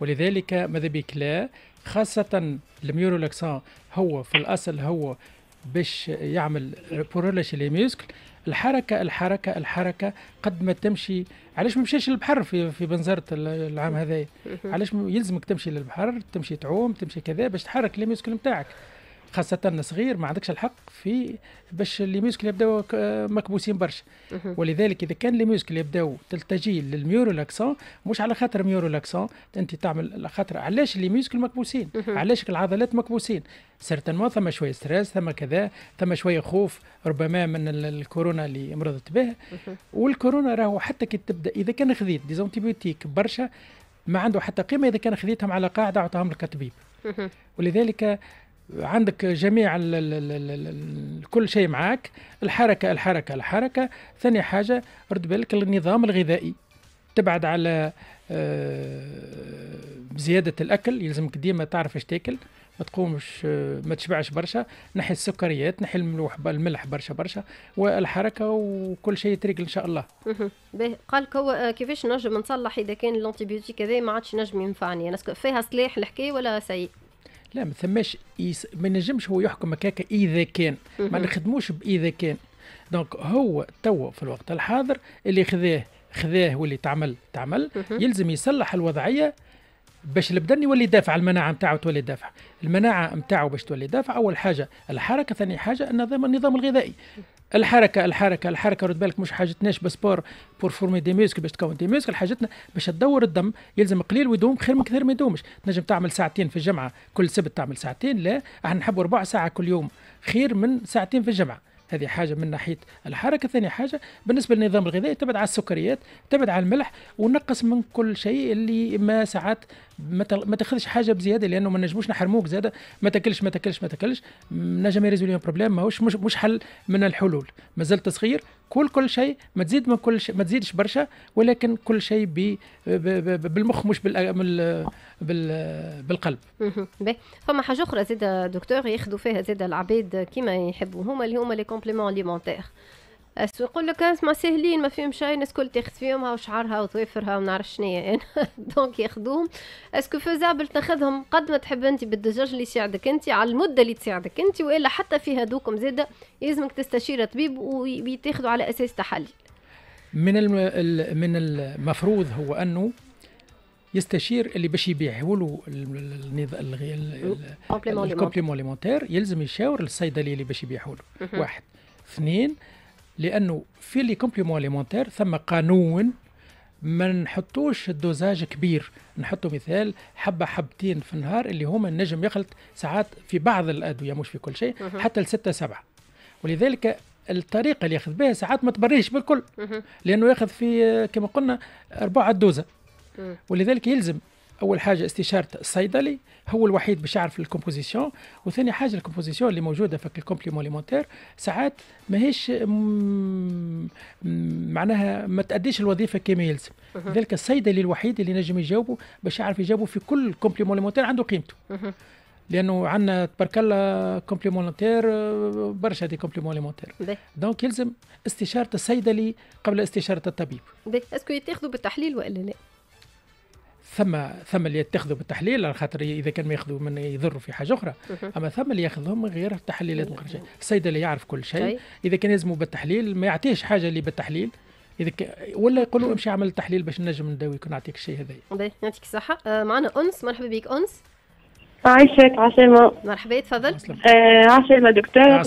ولذلك ماذا بيك لا، خاصة ال myorelaxant هو في الاصل هو باش يعمل pour relâcher les muscles. الحركة الحركة الحركة قد ما تمشي، علاش ما مشيش للبحر في في بنزرت العام هذايا؟ علاش يلزمك تمشي للبحر، تمشي تعوم، تمشي كذا باش تحرك les muscles نتاعك، خاصة صغير ما عندكش الحق في باش les muscles يبداو مكبوسين برشا. ولذلك إذا كان les muscles يبداو تلتجي لل myorelaxant مش على خاطر myorelaxant أنت تعمل على خاطر علاش les muscles مكبوسين، علاش العضلات مكبوسين؟ certainement ثم شوية stress، ثم كذا، ثم شوية خوف ربما من الكورونا اللي مرضت به. والكورونا راهو حتى كي تبدا إذا كان خذيت des antibiotiques برشا ما عنده حتى قيمة إذا كان خذيتهم على قاعدة أعطاهم لك الطبيب. ولذلك عندك جميع ال ال ال ال كل شيء معاك، الحركة الحركة الحركة. ثاني حاجة رد بالك النظام الغذائي، تبعد على زيادة الأكل، يلزمك ديما تعرف ايش تاكل، ما تقومش ما تشبعش برشا، نحي السكريات، نحي الملوح الملح برشا برشا، والحركة وكل شيء يتريقل إن شاء الله. باهي، قالك هو كيفاش نجم نصلح إذا كان ال antibiotique هذا ما عادش نجم ينفعني، أنا فيها صلاح الحكاية ولا سيء؟ لا ما ثماش، ما نجمش هو يحكم هكاك اذا كان ما نخدموش باذا كان. donc هو توا في الوقت الحاضر اللي خذاه خذاه واللي تعمل تعمل، يلزم يصلح الوضعية باش البدن يولي دافع، المناعة نتاعو تولي دافع، المناعة نتاعو باش تولي دافع اول حاجة الحركة، ثاني حاجة النظام النظام الغذائي. الحركة الحركة الحركة رد بالك مش حاجتناش ب sport pour former des muscles باش تكون des muscles، حاجتنا باش تدور الدم، يلزم قليل ويدوم خير من كثير ما يدومش. تنجم تعمل ساعتين في الجمعة كل سبت تعمل ساعتين، لا احنا نحبوا ربع ساعة كل يوم خير من ساعتين في الجمعة. هذه حاجة من ناحية الحركة. ثاني حاجة بالنسبة للنظام الغذائي تبعد على السكريات، تبعد على الملح، ونقص من كل شيء اللي ما ساعات ما تاخذش حاجة بزيادة لانه ما نجموش نحرموك زاده، ما تاكلش ما تاكلش ما تاكلش نجم ي résoudre problème، ماهوش مش, مش حل من الحلول. مازلت صغير كل كل شيء ما تزيد من كل شيء، ما تزيدش برشا، ولكن كل شيء بالمخ مش بال بالقلب. باهي، فما حاجة اخرى زاد دكتور ياخذوا فيها زاد العباد كيما يحبوا هما، اللي هما les compléments alimentaires. يقول لك اسمع ساهلين ما فيهم شيء، الناس الكل تاخذ فيهم، هاو شعرها وطويفرها وما نعرف شنيا انا، donc ياخذوهم. est-ce que faisable تاخذهم قد ما تحب انت بال dosage اللي يساعدك انت على المدة اللي تساعدك انت، والا حتى في هذوكم زاده يلزمك تستشير طبيب ويتاخذوا على اساس تحاليل؟ من الم... من المفروض هو انه يستشير اللي باش يبيعه له ال complément alimentaire، يلزم يشاور الصيدلي اللي باش يبيعه له. واحد. اثنين، لانه في les compléments alimentaires ثم قانون ما نحطوش ال dosage كبير، نحطوا مثال حبه حبتين في النهار اللي هما النجم يخلط ساعات في بعض الادوية مش في كل شيء حتى لستة سبعة، ولذلك الطريقة اللي ياخذ بها ساعات ما تبريش بالكل لانه ياخذ في كما قلنا أربعة دوزه، ولذلك يلزم اول حاجة استشاره الصيدلي، هو الوحيد باش يعرف ال composition، وثاني حاجة ال composition اللي موجودة في ال complément alimentaire ساعات ماهيش معناها ما تاديش الوظيفة كما يلزم، لذلك الصيدلي الوحيد اللي نجم يجاوبه باش يعرف يجاوبه في كل complément alimentaire عنده قيمته، لانه عندنا تبارك الله compléments alimentaires برشا des compléments alimentaires، donc يلزم استشاره الصيدلي قبل استشاره الطبيب. est-ce que يتاخذوا بالتحليل والا لا؟ ثم ثم اللي يتخذوا بالتحليل على خاطر اذا كان ما ياخذوا من يضروا في حاجة اخرى، اما ثم اللي ياخذهم من غير تحليلات من غير شيء، الصيدلي يعرف كل شيء، اذا كان يلزموا بالتحليل ما يعطيش حاجة اللي بالتحليل، اذا ك... ولا يقولوا امشي اعمل تحليل باش نجم نداويك ونعطيك الشيء هذايا. باهي يعطيك الصحة. آه معنا انس، مرحبا بك انس. عايشك عسلامة. مرحبا تفضل. آه عسلامة دكتور،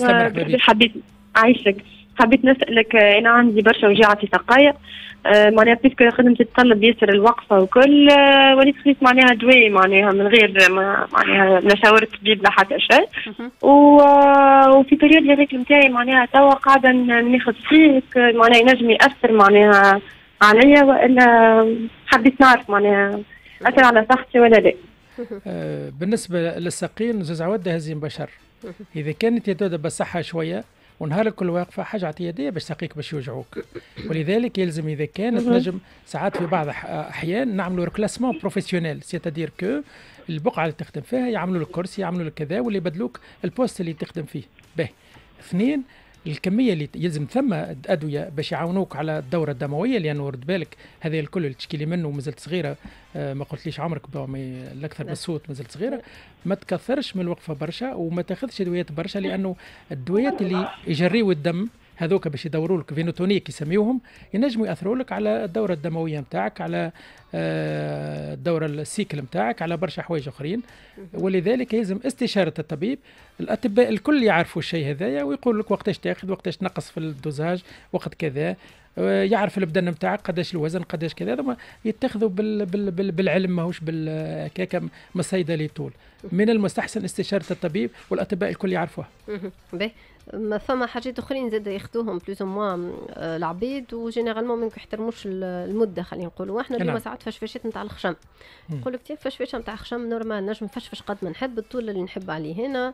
حبيت عايشك حبيت نسألك، أنا عندي برشا وجيعة في سقايا، آه معناها puisque خدمتي تتطلب ياسر الوقفة وكل، آه وليت خذيت معناها دواء معناها من غير ما معناها لا شاورت طبيب لا حتى شيء، وفي période les règles نتاعي معناها توا قاعدة ناخذ فيه، معناها ينجم يأثر معناها عليا وإلا حبيت نعرف معناها أثر على صحتي ولا لا؟ آه بالنسبة للساقين زوز عواد هزيم بشر، إذا كانت يدودة بالصحة شوية ونهار الكل واقفة حاجة اعتياديه باش ساقيك باش يوجعوك، ولذلك يلزم اذا كانت نجم ساعات في بعض الاحيان نعملوا reclassement professionnel، c'est-à-dire que البقعة اللي تخدم فيها يعملوا لك كرسي يعملوا لك كذا واللي يبدلوك ال poste اللي تخدم فيه. باهي. اثنين، الكمية اللي يلزم ثم ادوية باش يعاونوك على الدورة الدموية، لانه رد بالك هذا الكل اللي تشكيلي منه مازلت صغيرة، آه ما قلتليش عمرك الاكثر بالصوت مازلت صغيرة، ما تكثرش من الوقفة برشا وما تاخذش ادويات برشا، لانه الدويات اللي يجريوا الدم هذوك باش يدوروا لك veinotoniques يسميوهم، ينجموا ياثروا لك على الدورة الدموية نتاعك، على الدورة ال cycle نتاعك، على برشا حوايج اخرين، ولذلك يلزم استشاره الطبيب. الاطباء الكل يعرفوا الشيء هذايا ويقول لك وقتاش تاخذ، وقتاش تنقص في ال dosage، وقت كذا، يعرف البدن نتاعك قداش الوزن قداش كذا، هذوما يتخذوا بال بال بال بالعلم ماهوش بالكاكا من الصيدلي طول. من المستحسن استشاره الطبيب والاطباء الكل يعرفوها. باهي، ما فما حاجات اخرين زاد ياخذوهم plus ou moins العبيد و généralement ما يحترموش المدة، خلينا نقولوا احنا اليوم ساعات فشفشات نتاع الخشم، نقول لك فشفشه نتاع خشم normal نجم نفشفش قد ما نحب الطول اللي نحب عليه هنا،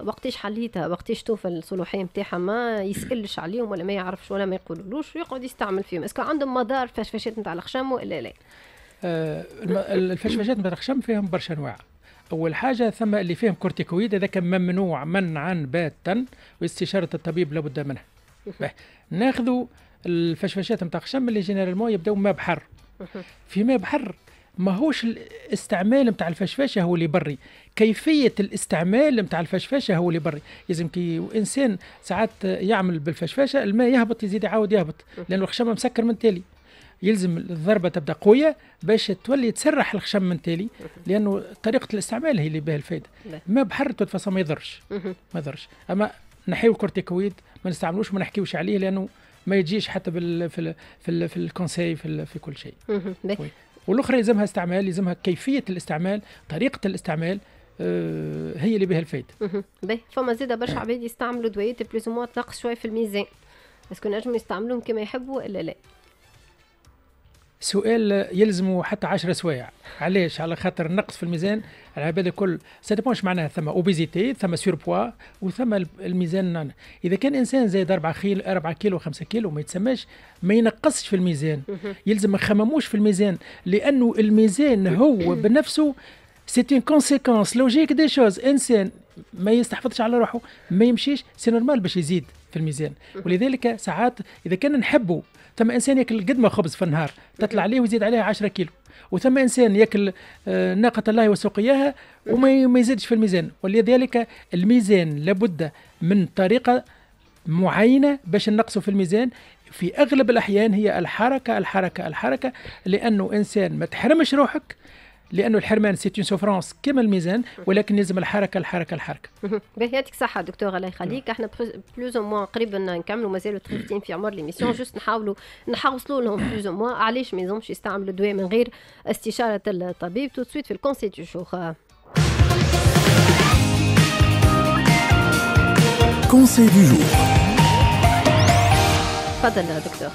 وقتاش حليتها وقتاش توفى الصلاحية نتاعها ما يسالش عليهم ولا ما يعرفش ولا ما يقولولوش ويقعد يستعمل فيهم، est-ce que عندهم مضار فشفشات نتاع الخشم ولا لا؟ آه الفشفشات نتاع الخشم فيهم برشا انواع. اول حاجة ثم اللي فيهم كورتيكويد، هذاك ممنوع منعا باتا واستشاره الطبيب لابد منها. ناخذوا الفشفشات نتاع الخشم اللي généralement يبداو ماء بحر. في ماء بحر ماهوش الاستعمال نتاع الفشفاشه هو اللي بري، كيفية الاستعمال نتاع الفشفاشه هو اللي بري. لازم كي انسان ساعات يعمل بالفشفاشه الماء يهبط يزيد يعاود يهبط لانه الخشم مسكر من تالي، يلزم الضربة تبدا قوية باش تولي تسرح الخشم من تالي، لانه طريقه الاستعمال هي اللي بها الفائدة. ما بحر تتفصل ما يضرش ما يضرش، اما نحيو الكورتيكويد ما نستعملوش ما نحكيوش عليه لانه ما يجيش حتى بال في ال في, ال في ال conseil في, في كل شيء. والاخرى يلزمها استعمال، يلزمها كيفية الاستعمال، طريقه الاستعمال آه هي اللي بها الفائدة. باهي، فما زاده برشا عباد يستعملوا دويات plus ou moins تنقص شوية في الميزان، est-ce que نجموا يستعملوهم كما يحبوا ولا لا؟ سؤال يلزمه حتى عشرة سوايع. علاش؟ على خاطر النقص في الميزان على بالي الكل ça dépend معناها ثم obésité، ثم surpoids، وثم الميزان. اذا كان انسان زايد أربعة خيل أربعة كيلو خمسة كيلو ما يتسماش ما ينقصش في الميزان. يلزم ما نخمموش في الميزان، لانه الميزان هو بنفسه c'est une conséquence logique des choses. انسان ما يستحفظش على روحه ما يمشيش c'est normal باش يزيد في الميزان. ولذلك ساعات اذا كان نحبه، ثم انسان ياكل قدمه خبز في النهار تطلع عليه ويزيد عليها عشرة كيلو، وثم انسان ياكل ناقة الله وسقياها وما يزيدش في الميزان. ولذلك الميزان لابد من طريقه معينة باش نقصوا في الميزان. في اغلب الاحيان هي الحركة الحركة الحركة، لانه انسان ما تحرمش روحك، لانه الحرمان c'est une souffrance كما الميزان، ولكن لازم الحركة الحركة الحركة. باهي، يعطيك الصحة دكتور، الله يخليك. احنا plus ou moins قريبا نكملوا، مازالوا دقيقتين في عمر l'émission، juste نحاولوا نحوصلوا لهم plus ou moins علاش ما يلزمش يستعملوا دواء من غير استشاره الطبيب. tout de suite في ال conseil du jour. conseil du jour. تفضل يا دكتور.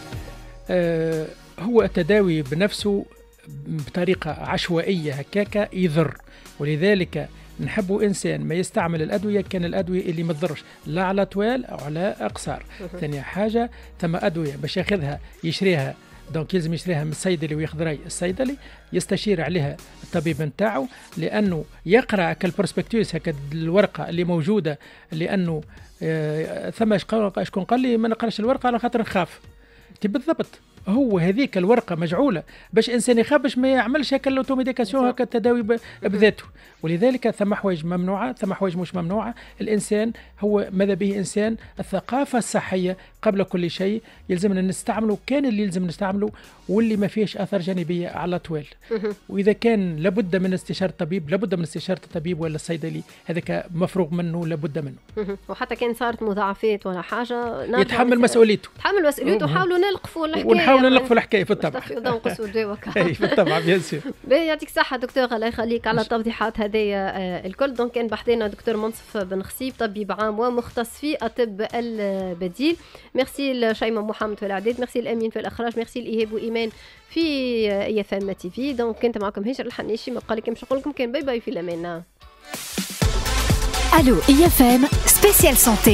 آه هو التداوي بنفسه بطريقة عشوائية هكاكا يضر، ولذلك نحبوا إنسان ما يستعمل الأدوية كان الأدوية اللي ما تضرش لا على طوال أو على أقصار. ثاني حاجة، ثم أدوية باش ياخذها يشريها، donc يلزم يشريها من الصيدلي وياخذ رأي الصيدلي، يستشير عليها الطبيب نتاعو، لأنه يقرأ كال prospectus هكا الورقة اللي موجودة، لأنه آه ثم شكون قال لي ما نقراش الورقة على خاطر نخاف. بالضبط هو هذيك الورقة مجعوله باش انسان يخاف باش ما يعملش هكا l'automédication هكا التداوي بذاته. ولذلك ثم حوايج ممنوعة، ثم حوايج مش ممنوعة. الانسان هو ماذا به انسان الثقافة الصحية قبل كل شيء، يلزمنا نستعمله كان اللي يلزم نستعمله واللي ما فيهش اثار جانبيه على طوال. واذا كان لابد من استشاره الطبيب، لابد من استشاره الطبيب ولا الصيدلي، هذاك مفروغ منه لابد منه. وحتى كان صارت مضاعفات ولا حاجة يتحمل مسؤوليته، يتحمل مسؤوليته. وحاولوا نلقفوا الحكاية، ونحاولوا نلقفوا الحكاية في الطبع. اي في الطبع bien sûr. يعطيك الصحة دكتور، الله يخليك على التوضيحات هذه الكل. donc كان بحذانا دكتور منصف بن خصيب، طبيب عام ومختص في الطب البديل. ميرسي لشيماء محمد في الاعداد، ميرسي الامين في الاخراج، ميرسي لايهاب وايمان في IFM TV. donc كنت معكم هجر الحنيشي، ما بقى لكم نقول لكم كان bye bye في الامان. الو IFM spécial santé.